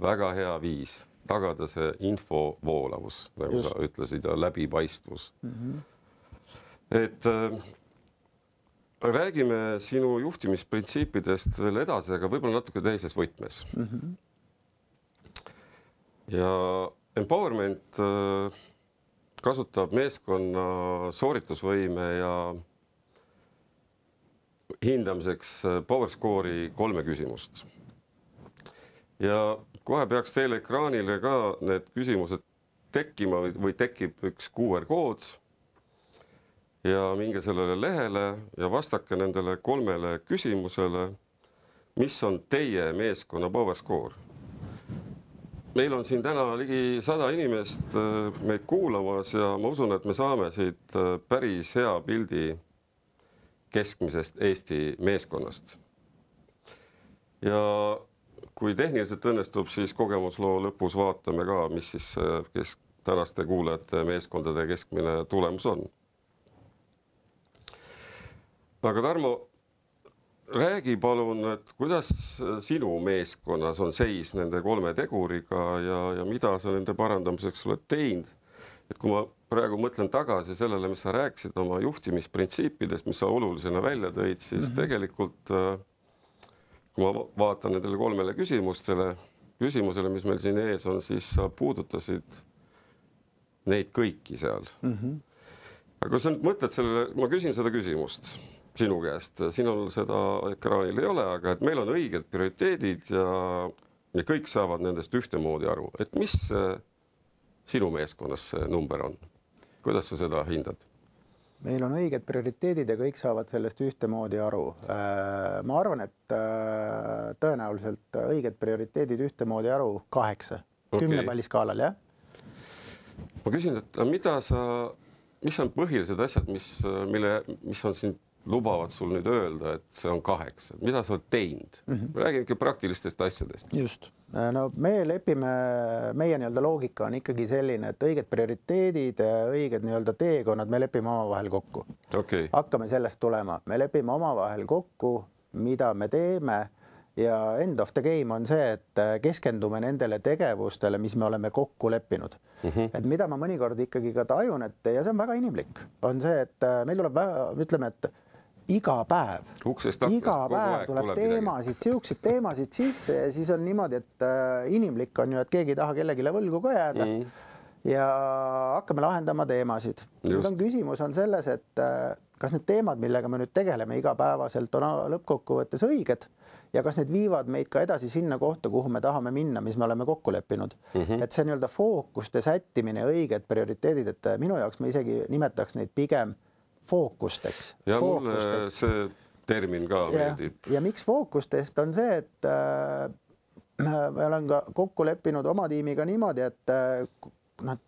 väga hea viis tagada see info voolavus, nagu Just. sa ütlesid, ja läbipaistvus. Mm-hmm. Et äh, räägime sinu juhtimisprintsiipidest veel edasi, aga võib-olla natuke teises võtmes. Mm-hmm. Ja empowerment äh, kasutab meeskonna sooritusvõime ja hindamiseks PowerScore'i kolme küsimust. Ja kohe peaks teile ekraanile ka need küsimused tekkima või, või tekib üks Q R kood ja minge sellele lehele ja vastake nendele kolmele küsimusele, mis on teie meeskonna PowerScore. Meil on siin täna ligi sada inimest meid kuulamas ja ma usun, et me saame siit päris hea pildi keskmisest Eesti meeskonnast. Ja kui tehniliselt õnnestub, siis kogemusloo lõpus vaatame ka, mis siis kesk, tänaste kuulajate meeskondade keskmine tulemus on. Aga Tarmo, räägi palun, et kuidas sinu meeskonnas on seis nende kolme teguriga ja, ja mida sa nende parandamiseks oled teinud? Et kui ma praegu mõtlen tagasi sellele, mis sa rääkisid oma juhtimisprintsiipidest, mis sa olulisena välja tõid, siis mm-hmm. tegelikult kui ma vaatan nendele kolmele küsimustele, küsimusele, mis meil siin ees on, siis sa puudutasid neid kõiki seal. Mm-hmm. Aga kui sa nüüd mõtled sellele, ma küsin seda küsimust sinu käest, sinul seda ekraanil ei ole, aga et meil on õiged prioriteedid ja, ja kõik saavad nendest ühtemoodi aru. Et mis sinu meeskonnas see number on? Kuidas sa seda hindad? Meil on õiged prioriteedid ja kõik saavad sellest ühtemoodi aru. Ma arvan, et tõenäoliselt õiged prioriteedid ühtemoodi aru kaheksa. Okay. Kümne palli skaalal, jah? Ma küsin, et mida sa, mis on põhilised asjad, mis, mille, mis on siin lubavad sul nüüd öelda, et see on kaheksa. Mida sa oled teinud? Mm-hmm. Räägin ikka praktilistest asjadest. Just. No me lepime, meie nii-öelda loogika on ikkagi selline, et õiged prioriteedid, õiged nii-öelda teekonnad, me lepime omavahel kokku. Okay. Hakkame sellest tulema. Me lepime omavahel kokku, mida me teeme ja end of the game on see, et keskendume nendele tegevustele, mis me oleme kokku leppinud. Mm-hmm. Et mida ma mõnikord ikkagi ka tajun, et ja see on väga inimlik, on see, et meil tuleb väga, ütleme, et iga päev, Uksest iga päev tuleb, tuleb teemasid, siukseid teemasid sisse ja siis on niimoodi, et inimlik on ju, et keegi ei taha kellegile võlgu ka jääda mm. ja hakkame lahendama teemasid. Nüüd on küsimus on selles, et kas need teemad, millega me nüüd tegeleme igapäevaselt on lõppkokkuvõttes õiged ja kas need viivad meid ka edasi sinna kohta, kuhu me tahame minna, mis me oleme kokku leppinud. Mm-hmm. Et see nii-öelda fookuste sättimine, õiged prioriteedid, et minu jaoks me isegi nimetaks neid pigem fookusteks. Ja mulle see termin ka meeldib. Ja, ja miks fookustest on see, et äh, me olen ka kokku leppinud oma tiimiga niimoodi, et äh, noh,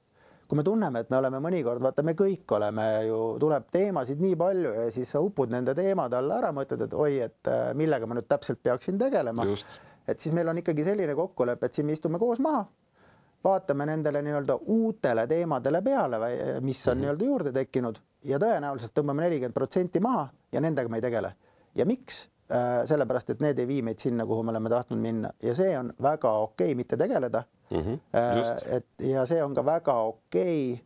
kui me tunneme, et me oleme mõnikord, vaata, me kõik oleme ju, tuleb teemasid nii palju ja siis sa upud nende teemade alla ära, mõtled, et oi, et äh, millega ma nüüd täpselt peaksin tegelema. Just. Et siis meil on ikkagi selline kokkulepe, et siin me istume koos maha, vaatame nendele nii-öelda uutele teemadele peale, mis on mm-hmm. nii-öelda juurde tekkinud ja tõenäoliselt tõmbame nelikümmend protsenti maha ja nendega me ei tegele. Ja miks? Sellepärast, et need ei vii meid sinna, kuhu me oleme tahtnud minna ja see on väga okei mitte tegeleda. Mm-hmm. Et, ja see on ka väga okei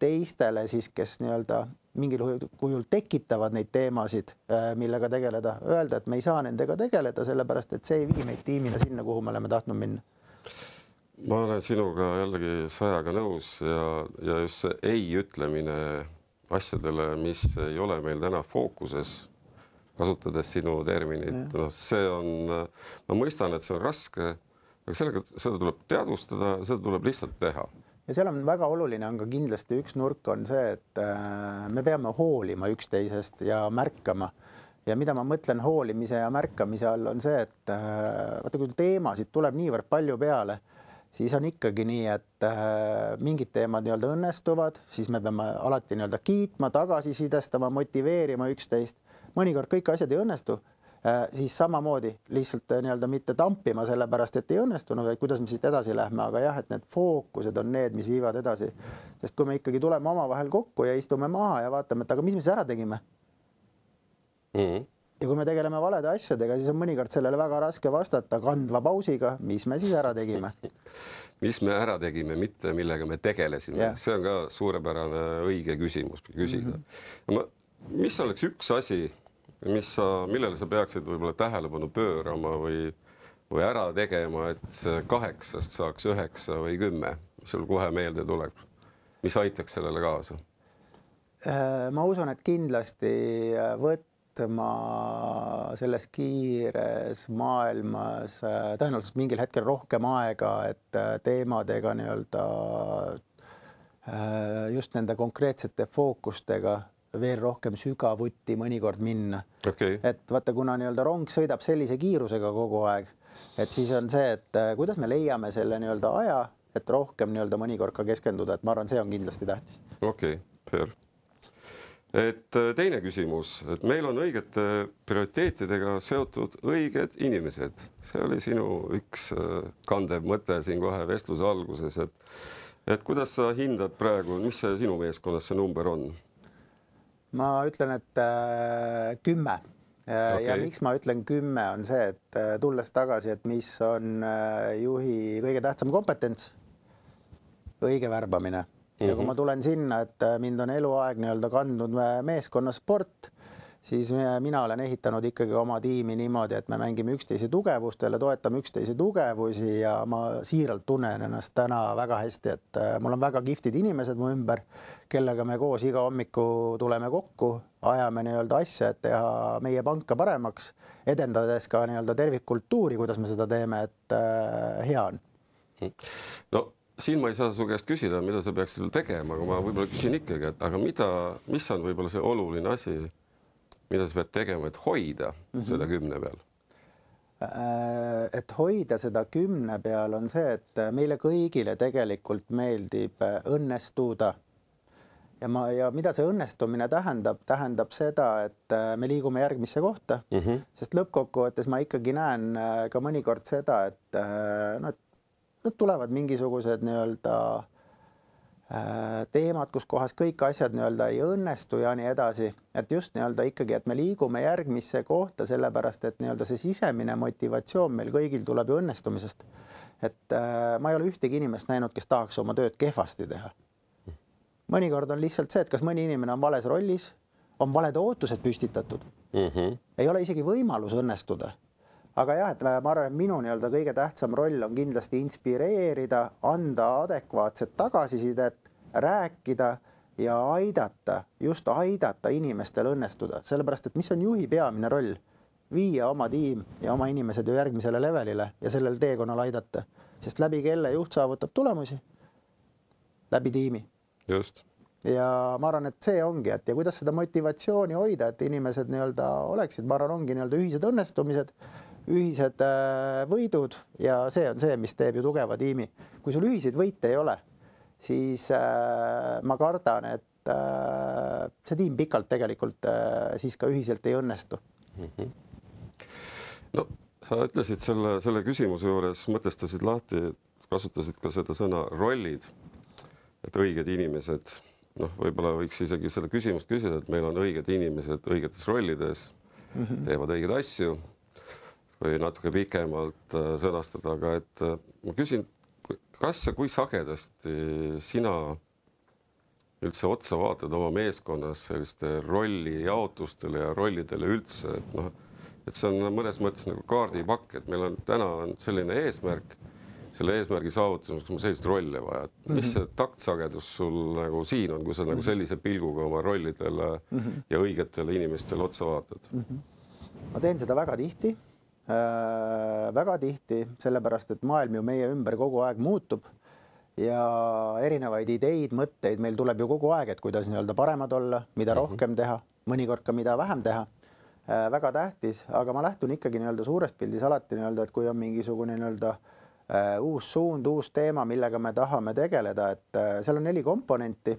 teistele siis, kes nii-öelda mingil kujul tekitavad neid teemasid, millega tegeleda. Öelda, et me ei saa nendega tegeleda, sellepärast, et see ei vii meid tiimina sinna, kuhu me oleme tahtnud minna. Ma olen sinuga jällegi sajaga nõus ja, ja just see ei ütlemine asjadele, mis ei ole meil täna fookuses, kasutades sinu terminit. No, see on, ma mõistan, et see on raske, aga sellega, seda tuleb teadvustada, seda tuleb lihtsalt teha. Ja seal on väga oluline, on ka kindlasti üks nurk on see, et me peame hoolima üksteisest ja märkama. Ja mida ma mõtlen hoolimise ja märkamise all on see, et vaata, kui teemasid tuleb niivõrd palju peale, siis on ikkagi nii, et mingid teemad nii-öelda õnnestuvad, siis me peame alati nii-öelda kiitma, tagasisidestama, motiveerima üksteist. Mõnikord kõik asjad ei õnnestu, siis samamoodi lihtsalt nii-öelda mitte tampima sellepärast, et ei õnnestunud, või kuidas me siit edasi lähme, aga jah, et need fookused on need, mis viivad edasi. Sest kui me ikkagi tuleme omavahel kokku ja istume maha ja vaatame, et aga mis me siis ära tegime? Mm-hmm. Ja kui me tegeleme valede asjadega, siis on mõnikord sellele väga raske vastata kandva pausiga, mis me siis ära tegime. Mis me ära tegime, mitte millega me tegelesime. Yeah. See on ka suurepärane õige küsimus küsida. Mm-hmm. Mis oleks üks asi, mis sa, millele sa peaksid võib-olla tähelepanu pöörama või, või ära tegema, et see kaheksast saaks üheksa või kümme, mis sul kohe meelde tuleb? Mis aitaks sellele kaasa? Ma usun, et kindlasti võtta et ma selles kiires maailmas tõenäoliselt mingil hetkel rohkem aega, et teemadega nii-öelda just nende konkreetsete fookustega veel rohkem sügavuti mõnikord minna. Okay. Et vaata, kuna nii-öelda rong sõidab sellise kiirusega kogu aeg, et siis on see, et kuidas me leiame selle nii-öelda aja, et rohkem nii-öelda mõnikord ka keskenduda, et ma arvan, see on kindlasti tähtis. Okei, okay, fair. Et teine küsimus, et meil on õigete prioriteetidega seotud õiged inimesed. See oli sinu üks kandev mõte siin kohe vestluse alguses, et, et kuidas sa hindad praegu, mis see sinu meeskonnas see number on? Ma ütlen, et äh, kümme. Okay. Ja miks ma ütlen kümme on see, et äh, tulles tagasi, et mis on äh, juhi kõige tähtsam kompetents, õige värbamine. Ja kui ma tulen sinna, et mind on eluaeg nii-öelda kandnud meeskonnasport, siis mina olen ehitanud ikkagi oma tiimi niimoodi, et me mängime üksteise tugevustele, toetame üksteise tugevusi ja ma siiralt tunnen ennast täna väga hästi, et mul on väga kihvtid inimesed mu ümber, kellega me koos iga hommiku tuleme kokku, ajame nii-öelda asja, et teha meie panka paremaks, edendades ka nii-öelda tervikkultuuri, kuidas me seda teeme, et hea on. No siin ma ei saa su käest küsida, mida sa peaksid tegema, aga ma võib-olla küsin ikkagi, et aga mida, mis on võib-olla see oluline asi, mida sa pead tegema, et hoida mm-hmm. seda kümne peal? Et hoida seda kümne peal on see, et meile kõigile tegelikult meeldib õnnestuda. Ja, ma, ja mida see õnnestumine tähendab? Tähendab seda, et me liigume järgmisse kohta, mm-hmm. sest lõppkokkuvõttes ma ikkagi näen ka mõnikord seda, et no, Nüüd tulevad mingisugused nii-öelda teemad, kus kohas kõik asjad nii-öelda ei õnnestu ja nii edasi. Et just nii-öelda ikkagi, et me liigume järgmisse kohta, sellepärast, et nii-öelda see sisemine motivatsioon meil kõigil tuleb ju õnnestumisest. Et ma ei ole ühtegi inimest näinud, kes tahaks oma tööd kehvasti teha. Mõnikord on lihtsalt see, et kas mõni inimene on vales rollis, on valed ootused püstitatud. Mm-hmm. Ei ole isegi võimalus õnnestuda. Aga jah, et ma arvan, et minu nii-öelda kõige tähtsam roll on kindlasti inspireerida, anda adekvaatset tagasisidet, rääkida ja aidata, just aidata inimestel õnnestuda. Sellepärast, et mis on juhi peamine roll? Viia oma tiim ja oma inimesed ju järgmisele levelile ja sellel teekonnal aidata. Sest läbi kelle juht saavutab tulemusi? Läbi tiimi. Just. Ja ma arvan, et see ongi, et ja kuidas seda motivatsiooni hoida, et inimesed nii-öelda oleksid, ma arvan, ongi nii-öelda ühised õnnestumised, ühised võidud ja see on see, mis teeb ju tugeva tiimi. Kui sul ühiseid võite ei ole, siis äh, ma kardan, et äh, see tiim pikalt tegelikult äh, siis ka ühiselt ei õnnestu. Mm-hmm. No, sa ütlesid selle, selle küsimuse juures, mõtestasid lahti, kasutasid ka seda sõna rollid, et õiged inimesed, noh, võib-olla võiks isegi selle küsimust küsida, et meil on õiged inimesed õigetes rollides, mm-hmm. teevad õigeid asju, või natuke pikemalt sõnastada, aga et ma küsin, kas ja kui sagedasti sina üldse otsa vaatad oma meeskonnas selliste rolli jaotustele ja rollidele üldse, et noh, et see on mõnes mõttes nagu kaardipakk, et meil on täna on selline eesmärk, selle eesmärgi saavutamiseks on sellist rolle vaja. Mm-hmm. Mis see taktsagedus sul nagu siin on, kui sa mm-hmm. nagu sellise pilguga oma rollidele mm-hmm. ja õigetele inimestele otsa vaatad? Mm-hmm. Ma teen seda väga tihti. Äh, väga tihti, sellepärast, et maailm ju meie ümber kogu aeg muutub ja erinevaid ideid, mõtteid meil tuleb ju kogu aeg, et kuidas nii-öelda paremad olla, mida mm-hmm. rohkem teha, mõnikord ka mida vähem teha. Äh, väga tähtis, aga ma lähtun ikkagi nii-öelda suures pildis alati nii-öelda, et kui on mingisugune nii-öelda äh, uus suund, uus teema, millega me tahame tegeleda, et äh, seal on neli komponenti.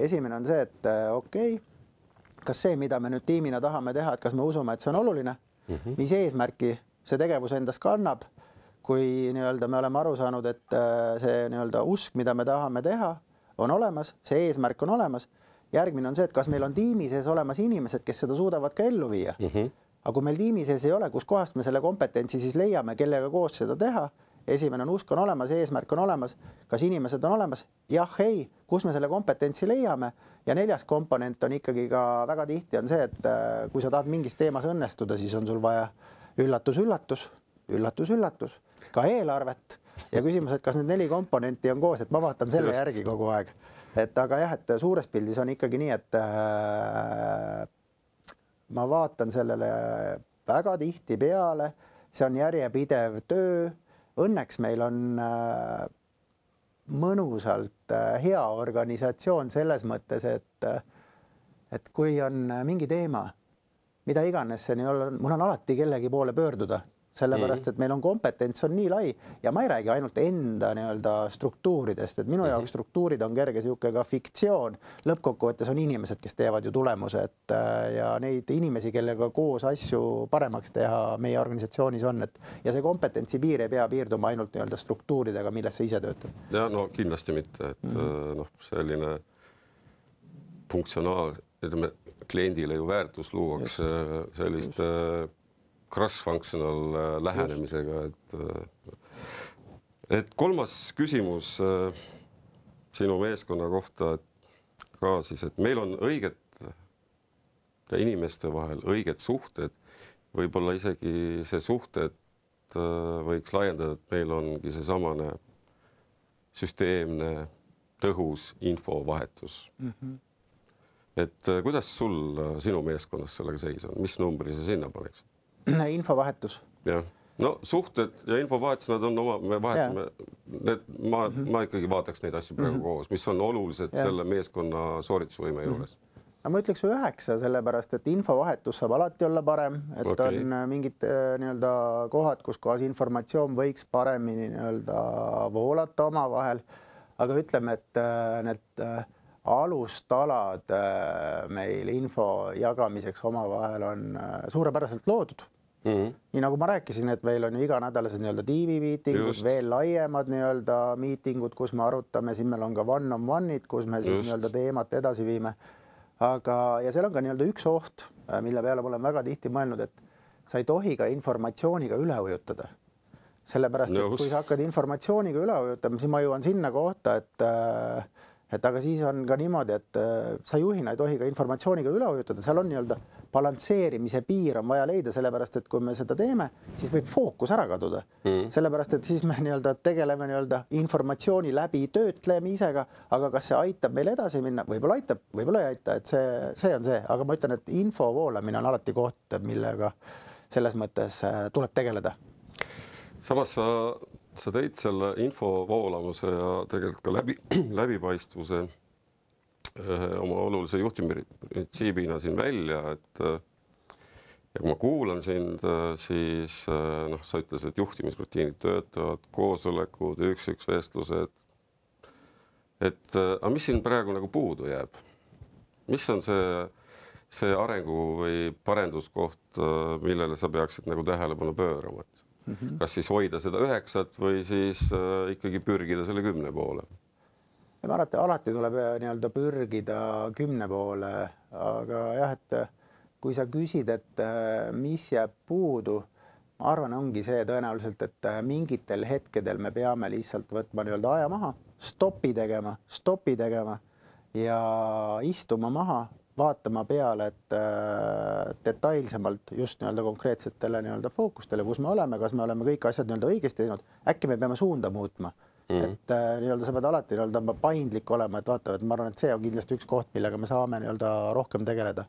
Esimene on see, et äh, okei, okay, kas see, mida me nüüd tiimina tahame teha, et kas me usume, et see on oluline? Mm-hmm. Mis eesmärki see tegevus endas kannab, kui nii-öelda me oleme aru saanud, et see nii-öelda usk, mida me tahame teha, on olemas, see eesmärk on olemas. Järgmine on see, et kas meil on tiimi sees olemas inimesed, kes seda suudavad ka ellu viia. Mm-hmm. Aga kui meil tiimi sees ei ole, kus kohast me selle kompetentsi siis leiame, kellega koos seda teha, esimene on usk on olemas, eesmärk on olemas, kas inimesed on olemas? Jah, ei, kus me selle kompetentsi leiame? Ja neljas komponent on ikkagi ka väga tihti on see, et kui sa tahad mingis teemas õnnestuda, siis on sul vaja üllatus, üllatus, üllatus, üllatus, ka eelarvet ja küsimus, et kas need neli komponenti on koos, et ma vaatan selle Just. järgi kogu aeg. Et aga jah, et suures pildis on ikkagi nii, et äh, ma vaatan sellele väga tihti peale, see on järjepidev töö. Õnneks meil on mõnusalt hea organisatsioon selles mõttes, et, et kui on mingi teema, mida iganes see nii olla, mul on alati kellegi poole pöörduda. Sellepärast, et meil on kompetents on nii lai ja ma ei räägi ainult enda nii-öelda struktuuridest, et minu jaoks struktuurid on kerge sihuke ka fiktsioon. Lõppkokkuvõttes on inimesed, kes teevad ju tulemused ja neid inimesi, kellega koos asju paremaks teha meie organisatsioonis on, et ja see kompetentsi piir ei pea piirduma ainult nii-öelda struktuuridega, milles sa ise töötad. Ja no kindlasti mitte, et mm-hmm. noh, selline funktsionaal, ütleme, kliendile ju väärtus luuakse sellist just. cross-functional lähenemisega, et, et kolmas küsimus sinu meeskonna kohta ka siis, et meil on õiged inimeste vahel õiged suhted, võib-olla isegi see suhted võiks laiendada, et meil ongi see samane süsteemne tõhus infovahetus. Mm-hmm. Et kuidas sul sinu meeskonnas sellega seis on, mis numbri sa sinna paneks? Infovahetus. Jah. No suhted ja infovahetus, nad on oma, me vahetame, need, ma, mm-hmm. ma ikkagi vaataks neid asju praegu mm-hmm. koos, mis on olulised ja. Selle meeskonna sooritusvõime juures. Mm-hmm. No ma ütleks üheksa, sellepärast, et infovahetus saab alati olla parem, et okay. on mingid nii-öelda kohad, kus kohas informatsioon võiks paremini nii-öelda voolata oma vahel, aga ütleme, et need alustalad meil info jagamiseks oma vahel on suurepäraselt loodud. Mm-hmm. Nii nagu ma rääkisin, et meil on ju iganädalased nii-öelda tiimimiitingud, veel laiemad nii-öelda miitingud, kus me arutame, siin meil on ka one-on-one'id, kus me siis nii-öelda teemat edasi viime. Aga, ja seal on ka nii-öelda üks oht, mille peale olen väga tihti mõelnud, et sa ei tohi ka informatsiooniga üle ujutada. Sellepärast, et kui sa hakkad informatsiooniga üle ujutama, siis ma jõuan sinna kohta, et et aga siis on ka niimoodi, et sa juhina ei tohi ka informatsiooniga üle ujutada, seal on nii-öelda balansseerimise piir on vaja leida, sellepärast, et kui me seda teeme, siis võib fookus ära kaduda. Mm. Sellepärast, et siis me nii-öelda tegeleme nii-öelda informatsiooni läbi töötlemisega, aga kas see aitab meil edasi minna? Võib-olla aitab, võib-olla ei aita, et see, see on see, aga ma ütlen, et info voolamine on alati koht, millega selles mõttes tuleb tegeleda. Samas sa sa tõid selle info voolamuse ja tegelikult ka läbi, läbipaistvuse oma olulise juhtimisprintsiibina siin välja, et ja kui ma kuulan sind, siis noh, sa ütlesid, et juhtimisrutiinid töötavad, koosolekud, üks-üks vestlused, et aga mis siin praegu nagu puudu jääb? Mis on see, see arengu või parenduskoht, millele sa peaksid nagu tähelepanu pöörama? Mm-hmm. Kas siis hoida seda üheksat või siis äh, ikkagi pürgida selle kümne poole? Ma arvan, et alati tuleb nii-öelda pürgida kümne poole, aga jah, et kui sa küsid, et mis jääb puudu, ma arvan, ongi see tõenäoliselt, et mingitel hetkedel me peame lihtsalt võtma nii-öelda aja maha, stopi tegema, stopi tegema ja istuma maha, vaatama peale, et äh, detailsemalt just nii-öelda konkreetsetele nii-öelda fookustele, kus me oleme, kas me oleme kõik asjad nii-öelda õigesti teinud, äkki me peame suunda muutma. Mm. Et äh, nii-öelda sa pead alati nii-öelda paindlik olema, et vaata, et ma arvan, et see on kindlasti üks koht, millega me saame nii-öelda rohkem tegeleda.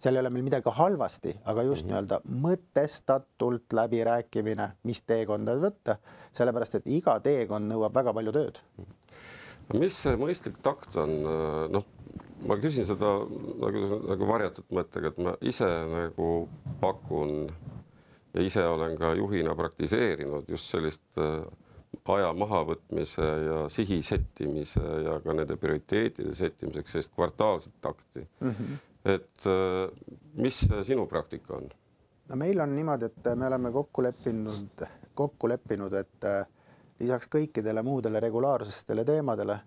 Seal ei ole meil midagi halvasti, aga just mm. nii-öelda mõtestatult läbirääkimine, mis teekonda võtta, sellepärast, et iga teekond nõuab väga palju tööd. Mis see mõistlik takt on? Noh, ma küsin seda nagu, nagu varjatud mõttega, et ma ise nagu pakun ja ise olen ka juhina praktiseerinud just sellist aja mahavõtmise ja sihi settimise ja ka nende prioriteetide settimiseks sellist kvartaalset takti. Mm-hmm. Et mis sinu praktika on? No meil on niimoodi, et me oleme kokku leppinud, kokku leppinud, et lisaks kõikidele muudele regulaarsestele teemadele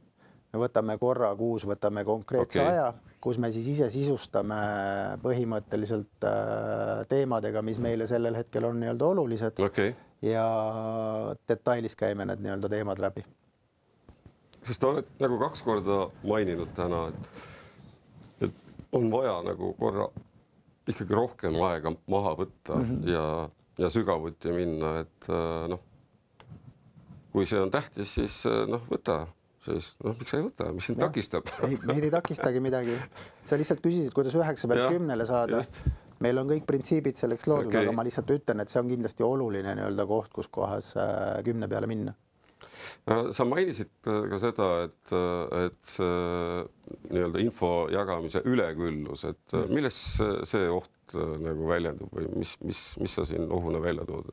me võtame korra kuus, võtame konkreetse okay. aja, kus me siis ise sisustame põhimõtteliselt teemadega, mis meile sellel hetkel on nii-öelda olulised okay. ja detailis käime need nii-öelda teemad läbi. Sest oled nagu kaks korda maininud täna, et, et on vaja nagu korra ikkagi rohkem aega maha võtta mm-hmm. ja, ja sügavuti minna, et noh, kui see on tähtis, siis noh, võta. Siis, noh, miks sa ei võta? Mis sind ja. takistab? Ei, meid ei takistagi midagi. Sa lihtsalt küsisid, kuidas üheksa pealt kümnele saada. Just. meil on kõik printsiibid selleks loodud okay., aga ma lihtsalt ütlen, et see on kindlasti oluline nii-öelda koht, kus kohas kümne peale minna. Sa mainisid ka seda, et, et see nii-öelda info jagamise üleküllus, et milles see oht nagu väljendub või mis, mis, mis sa siin ohuna välja tood?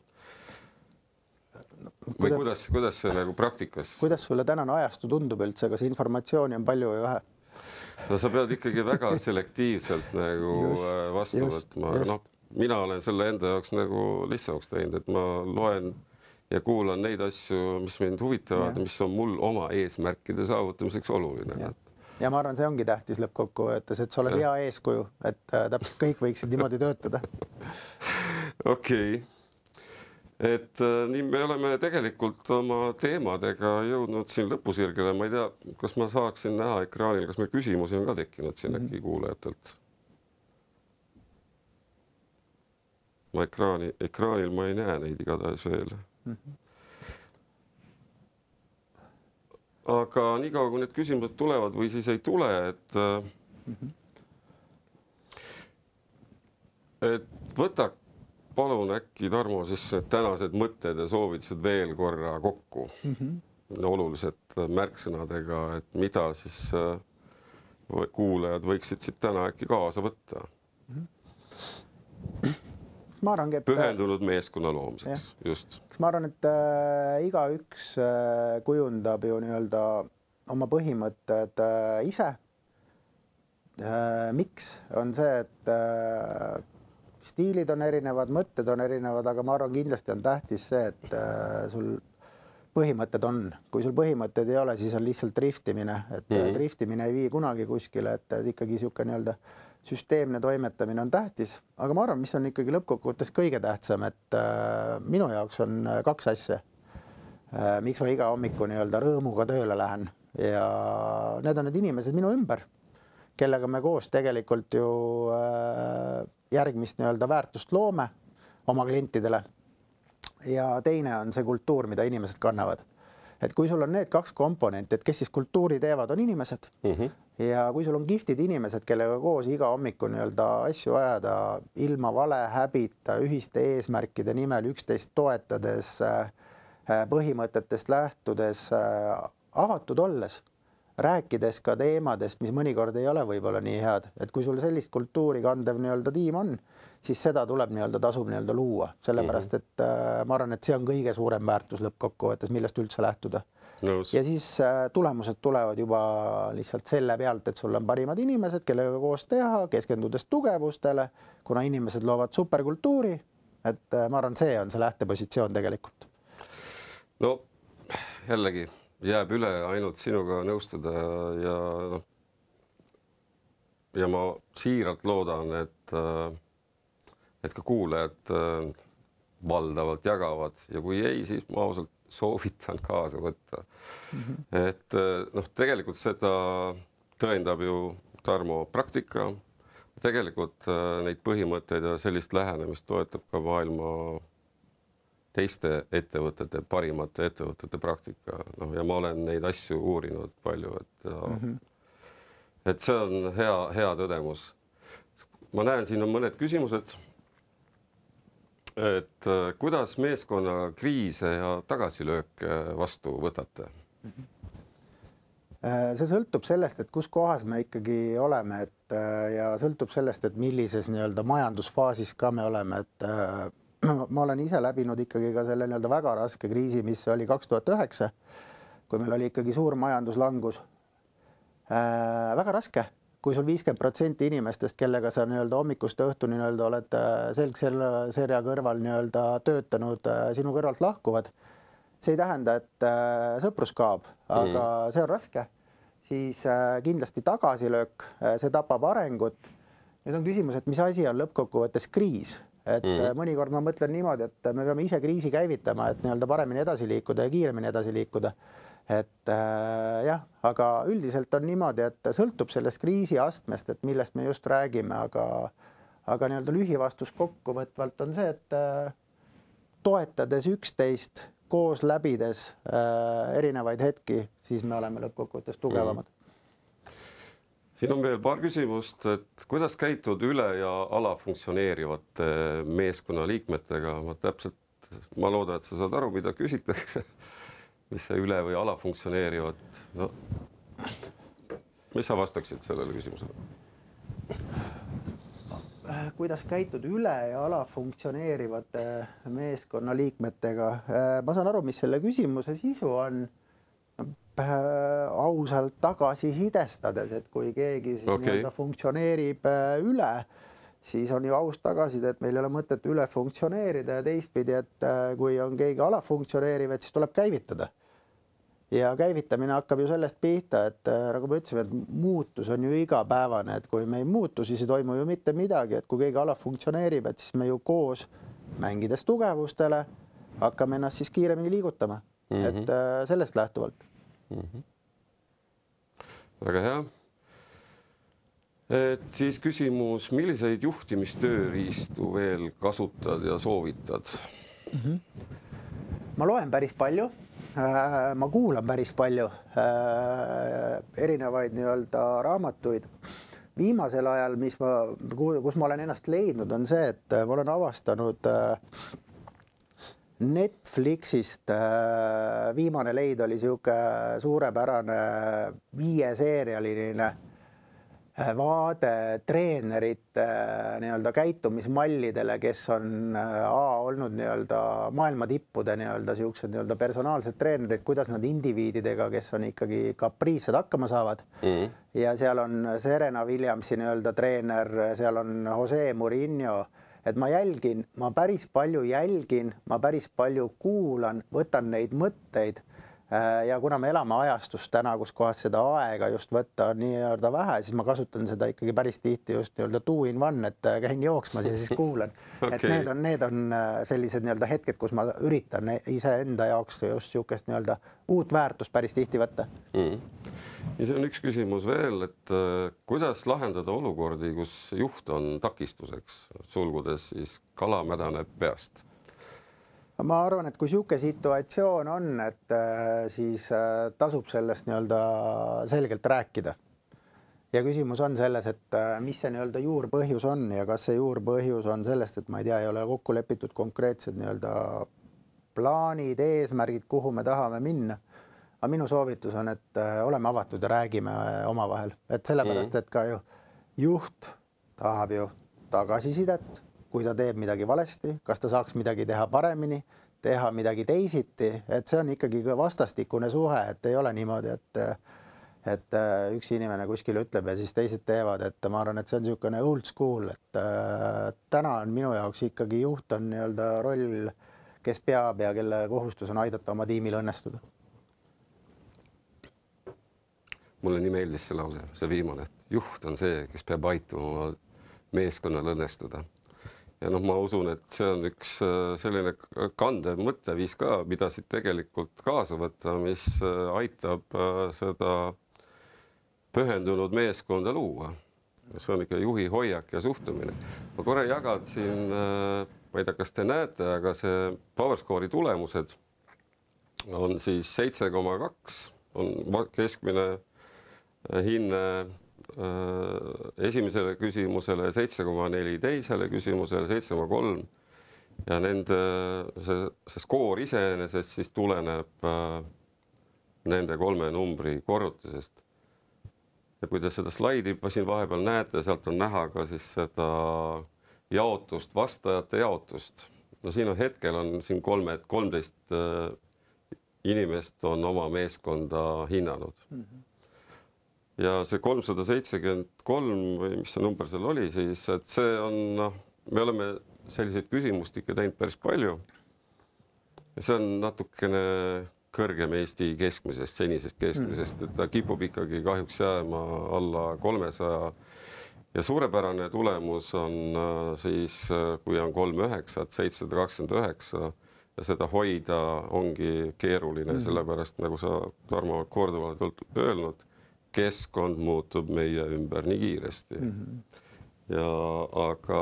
Või kuidas, kuidas see nagu praktikas? Kuidas sulle tänane ajastu tundub üldse, kas informatsiooni on palju või vähe? No sa pead ikkagi väga selektiivselt nagu just, vastu just, võtma, aga noh, mina olen selle enda jaoks nagu lihtsamaks teinud, et ma loen ja kuulan neid asju, mis mind huvitavad, mis on mul oma eesmärkide saavutamiseks oluline. Ja, ja ma arvan, see ongi tähtis lõppkokkuvõttes, et sa oled ja. hea eeskuju, et täpselt kõik võiksid niimoodi töötada. Okei. Okay. Et nii me oleme tegelikult oma teemadega jõudnud siin lõpusirgele. Ma ei tea, kas ma saaksin näha ekraanil, kas meil küsimusi on ka tekkinud siin äkki kuulajatelt? Ma ekraani, ekraanil ma ei näe neid igatahes veel. Aga niikaua, kui need küsimused tulevad või siis ei tule, et, et võta palun äkki, Tarmo, siis tänased mõtted ja soovitused veel korra kokku mm -hmm. olulised märksõnadega, et mida siis kuulajad võiksid siit täna äkki kaasa võtta. Mm -hmm. Ma arvan, et pühendunud meeskonna loomiseks, jah. Just. Kas ma arvan, et äh, igaüks äh, kujundab ju nii-öelda oma põhimõtted äh, ise. Äh, miks on see, et äh, stiilid on erinevad, mõtted on erinevad, aga ma arvan, kindlasti on tähtis see, et äh, sul põhimõtted on. Kui sul põhimõtted ei ole, siis on lihtsalt driftimine, et mm -hmm. driftimine ei vii kunagi kuskile, et ikkagi sihuke nii-öelda süsteemne toimetamine on tähtis, aga ma arvan, mis on ikkagi lõppkokkuvõttes kõige tähtsam, et äh, minu jaoks on kaks asja. Äh, miks ma iga hommiku nii-öelda rõõmuga tööle lähen ja need on need inimesed minu ümber, kellega me koos tegelikult ju äh, järgmist nii-öelda väärtust loome oma klientidele. Ja teine on see kultuur, mida inimesed kannavad. Et kui sul on need kaks komponenti, et kes siis kultuuri teevad, on inimesed. Mm -hmm. Ja kui sul on giftid inimesed, kellega koos iga hommiku nii-öelda asju ajada ilma vale häbita, ühiste eesmärkide nimel üksteist toetades, põhimõtetest lähtudes, avatud olles, rääkides ka teemadest, mis mõnikord ei ole võib-olla nii head, et kui sul sellist kultuuri kandev nii-öelda tiim on, siis seda tuleb nii-öelda tasub nii-öelda luua, sellepärast et äh, ma arvan, et see on kõige suurem väärtus lõppkokkuvõttes, millest üldse lähtuda. Nõus. Ja siis äh, tulemused tulevad juba lihtsalt selle pealt, et sul on parimad inimesed, kellega koos teha, keskendudes tugevustele, kuna inimesed loovad superkultuuri, et äh, ma arvan, see on see lähtepositsioon tegelikult. No jällegi jääb üle ainult sinuga nõustuda ja, ja ma siiralt loodan, et, et ka kuulajad valdavalt jagavad ja kui ei, siis ma ausalt soovitan kaasa võtta. Mm-hmm. Et noh, tegelikult seda tõendab ju Tarmo praktika. Tegelikult neid põhimõtteid ja sellist lähenemist toetab ka maailma teiste ettevõtete, parimate ettevõtete praktika. No, ja ma olen neid asju uurinud palju, et, ja, mm -hmm. et see on hea, hea tõdemus. Ma näen, siin on mõned küsimused. Et kuidas meeskonna kriise ja tagasilööke vastu võtate? Mm -hmm. See sõltub sellest, et kus kohas me ikkagi oleme, et ja sõltub sellest, et millises nii-öelda majandusfaasis ka me oleme, et ma olen ise läbinud ikkagi ka selle nii-öelda väga raske kriisi, mis oli kaks tuhat üheksa, kui meil oli ikkagi suur majanduslangus. Äh, väga raske, kui sul viiskümmend protsenti inimestest, kellega sa nii-öelda hommikust õhtuni nii-öelda oled selgserja kõrval nii-öelda töötanud, sinu kõrvalt lahkuvad. See ei tähenda, et äh, sõprus kaob, aga mm. see on raske. Siis äh, kindlasti tagasilöök, see tapab arengut. Nüüd on küsimus, et mis asi on lõppkokkuvõttes kriis? Et mm. mõnikord ma mõtlen niimoodi, et me peame ise kriisi käivitama, et nii-öelda paremini edasi liikuda ja kiiremini edasi liikuda. Et äh, jah, aga üldiselt on niimoodi, et sõltub sellest kriisi astmest, et millest me just räägime, aga, aga nii-öelda lühivastus kokkuvõtvalt on see, et äh, toetades üksteist, koos läbides äh, erinevaid hetki, siis me oleme lõppkokkuvõttes tugevamad. Mm. siin on veel paar küsimust, et kuidas käitud üle ja alafunktsioneerivate meeskonna liikmetega? Ma täpselt, ma loodan, et sa saad aru, mida küsitakse, mis see üle või alafunktsioneerivad. No, mis sa vastaksid sellele küsimusele? Kuidas käitud üle ja alafunktsioneerivate meeskonna liikmetega? Ma saan aru, mis selle küsimuse sisu on. Ausalt tagasi sidestades, et kui keegi siis okay. funktsioneerib üle, siis on ju aus tagasiside, et meil ei ole mõtet üle funktsioneerida ja teistpidi, et kui on keegi alafunktsioneeriv, et siis tuleb käivitada. Ja käivitamine hakkab ju sellest pihta, et nagu me ütlesime, et muutus on ju igapäevane, et kui me ei muutu, siis ei toimu ju mitte midagi, et kui keegi alafunktsioneerib, et siis me ju koos mängides tugevustele hakkame ennast siis kiiremini liigutama, mm-hmm. et sellest lähtuvalt. Mm-hmm. Väga hea. Et siis küsimus, milliseid juhtimistööriistu veel kasutad ja soovitad? Mm-hmm. Ma loen päris palju, ma kuulan päris palju erinevaid nii-öelda raamatuid. Viimasel ajal, mis ma, kus ma olen ennast leidnud, on see, et ma olen avastanud Netflixist viimane leid oli siuke suurepärane viieseerialine vaade treenerite nii-öelda käitumismallidele, kes on A olnud nii-öelda maailma tippude nii-öelda siuksed nii-öelda personaalsed treenerid, kuidas nad indiviididega, kes on ikkagi kapriissed hakkama saavad. Mm-hmm. Ja seal on Serena Williamsi nii-öelda treener, seal on Jose Mourinho. Et ma jälgin, ma päris palju jälgin, ma päris palju kuulan, võtan neid mõtteid ja kuna me elame ajastust täna, kus kohas seda aega just võtta on nii-öelda vähe, siis ma kasutan seda ikkagi päris tihti just nii-öelda two in one, et käin jooksmas ja siis kuulan. Okay. Et need on, need on sellised nii-öelda hetked, kus ma üritan ise enda jaoks just siukest nii-öelda uut väärtust päris tihti võtta. Mm. Ja see on üks küsimus veel, et kuidas lahendada olukordi, kus juht on takistuseks, sulgudes siis kala mädaneb peast? Ma arvan, et kui siuke situatsioon on, et siis tasub sellest nii-öelda selgelt rääkida. Ja küsimus on selles, et mis see nii-öelda juurpõhjus on ja kas see juurpõhjus on sellest, et ma ei tea, ei ole kokku lepitud konkreetsed nii-öelda plaanid, eesmärgid, kuhu me tahame minna. Aga minu soovitus on, et oleme avatud ja räägime omavahel. Et sellepärast, et ka ju juht tahab ju tagasisidet, kui ta teeb midagi valesti, kas ta saaks midagi teha paremini, teha midagi teisiti, et see on ikkagi vastastikune suhe, et ei ole niimoodi, et, et üks inimene kuskil ütleb ja siis teised teevad, et ma arvan, et see on niisugune old school, et täna on minu jaoks ikkagi juht on nii-öelda roll, kes peab ja kelle kohustus on aidata oma tiimil õnnestuda. Mulle nii meeldis see lause, see viimane, et juht on see, kes peab aituma meeskonnal õnnestuda. Ja noh, ma usun, et see on üks selline kandev mõtteviis ka, mida siit tegelikult kaasa võtta, mis aitab seda pühendunud meeskonda luua. See on ikka juhi hoiak ja suhtumine. Ma korra jagad siin, ma ei tea, kas te näete, aga see PowerScore'i tulemused on siis seitse koma kaks, on keskmine hinne esimesele küsimusele, seitse koma neli teisele küsimusele, seitse koma kolm ja nende see, see skoor iseenesest siis tuleneb nende kolme numbri korrutisest. Ja kui te seda slaidi siin vahepeal näete, sealt on näha ka siis seda jaotust, vastajate jaotust. No siin on hetkel on siin kolme, kolmteist inimest on oma meeskonda hinnanud. Mm-hmm. Ja see kolmsada seitsekümmend kolm või mis see number seal oli, siis et see on, noh, me oleme selliseid küsimustikke teinud päris palju. Ja see on natukene kõrgem Eesti keskmisest, senisest keskmisest, et ta kipub ikkagi kahjuks jääma alla kolmesaja. Ja suurepärane tulemus on siis, kui on kolm üheksa, seitsesada kakskümmend üheksa ja seda hoida ongi keeruline, mm. sellepärast nagu sa, Tarmo, korduvalt öelnud, keskkond muutub meie ümber nii kiiresti. Mm-hmm. Ja aga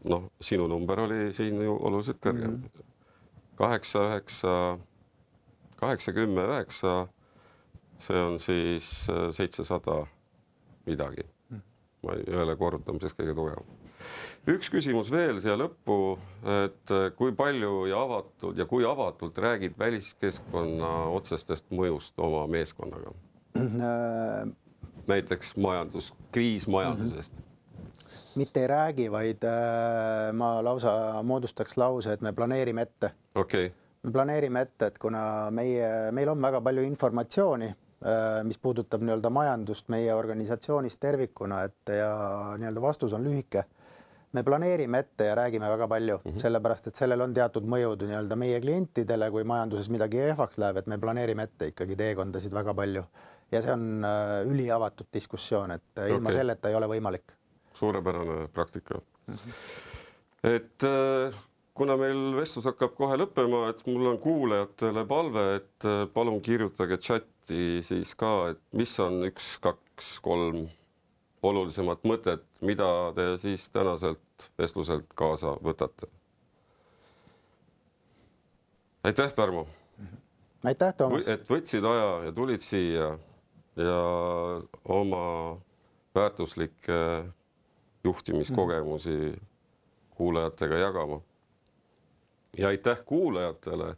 noh, sinu number oli siin ju oluliselt kõrgem. Mm-hmm. kaheksa, üheksa, kaheksa, kümme, üheksa, see on siis seitsesada midagi. ma ei ole korrutamises kõige tugevam. Üks küsimus veel siia lõppu, et kui palju ja avatud ja kui avatult räägid väliskeskkonna otsestest mõjust oma meeskonnaga? Näiteks majandus, kriis majandusest. Mitte ei räägi, vaid ma lausa moodustaks lause, et me planeerime ette. Okay. Me planeerime ette, et kuna meie, meil on väga palju informatsiooni, mis puudutab nii-öelda majandust meie organisatsioonist tervikuna, et ja nii-öelda vastus on lühike. Me planeerime ette ja räägime väga palju, mm-hmm. sellepärast, et sellel on teatud mõjud nii-öelda meie klientidele, kui majanduses midagi ehvaks läheb, et me planeerime ette ikkagi teekondasid väga palju. Ja see on üliavatud diskussioon, et okay. ilma selleta ei ole võimalik. Suurepärane praktika. Mm-hmm. Et kuna meil vestlus hakkab kohe lõppema, et mul on kuulajatele palve, et palun kirjutage chati siis ka, et mis on üks, kaks, kolm olulisemat mõtet, mida te siis tänaselt vestluselt kaasa võtate. Aitäh, Tarmo! Aitäh, Toomas! Et võtsid aja ja tulid siia ja oma väärtuslikke juhtimiskogemusi kuulajatega jagama. Ja aitäh kuulajatele,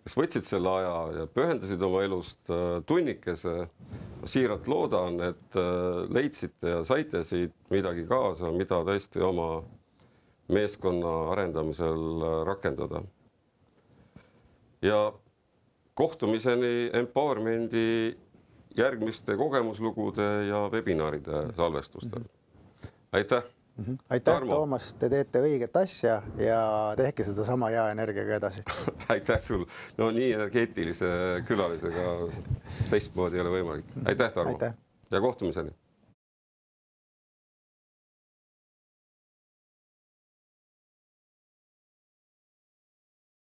kes võtsid selle aja ja pühendasid oma elust tunnikese. Ma siiralt loodan, et leidsite ja saite siit midagi kaasa, mida tõesti oma meeskonna arendamisel rakendada. Ja kohtumiseni Empowermendi järgmiste kogemuslugude ja webinaride salvestustel. Aitäh! Aitäh, Tarmo. Toomas, te teete õiget asja ja tehke seda sama hea energiaga edasi. Aitäh sul. No nii energeetilise külalisega teistmoodi ei ole võimalik. Aitäh, Tarmo. Aitäh. Ja kohtumiseni.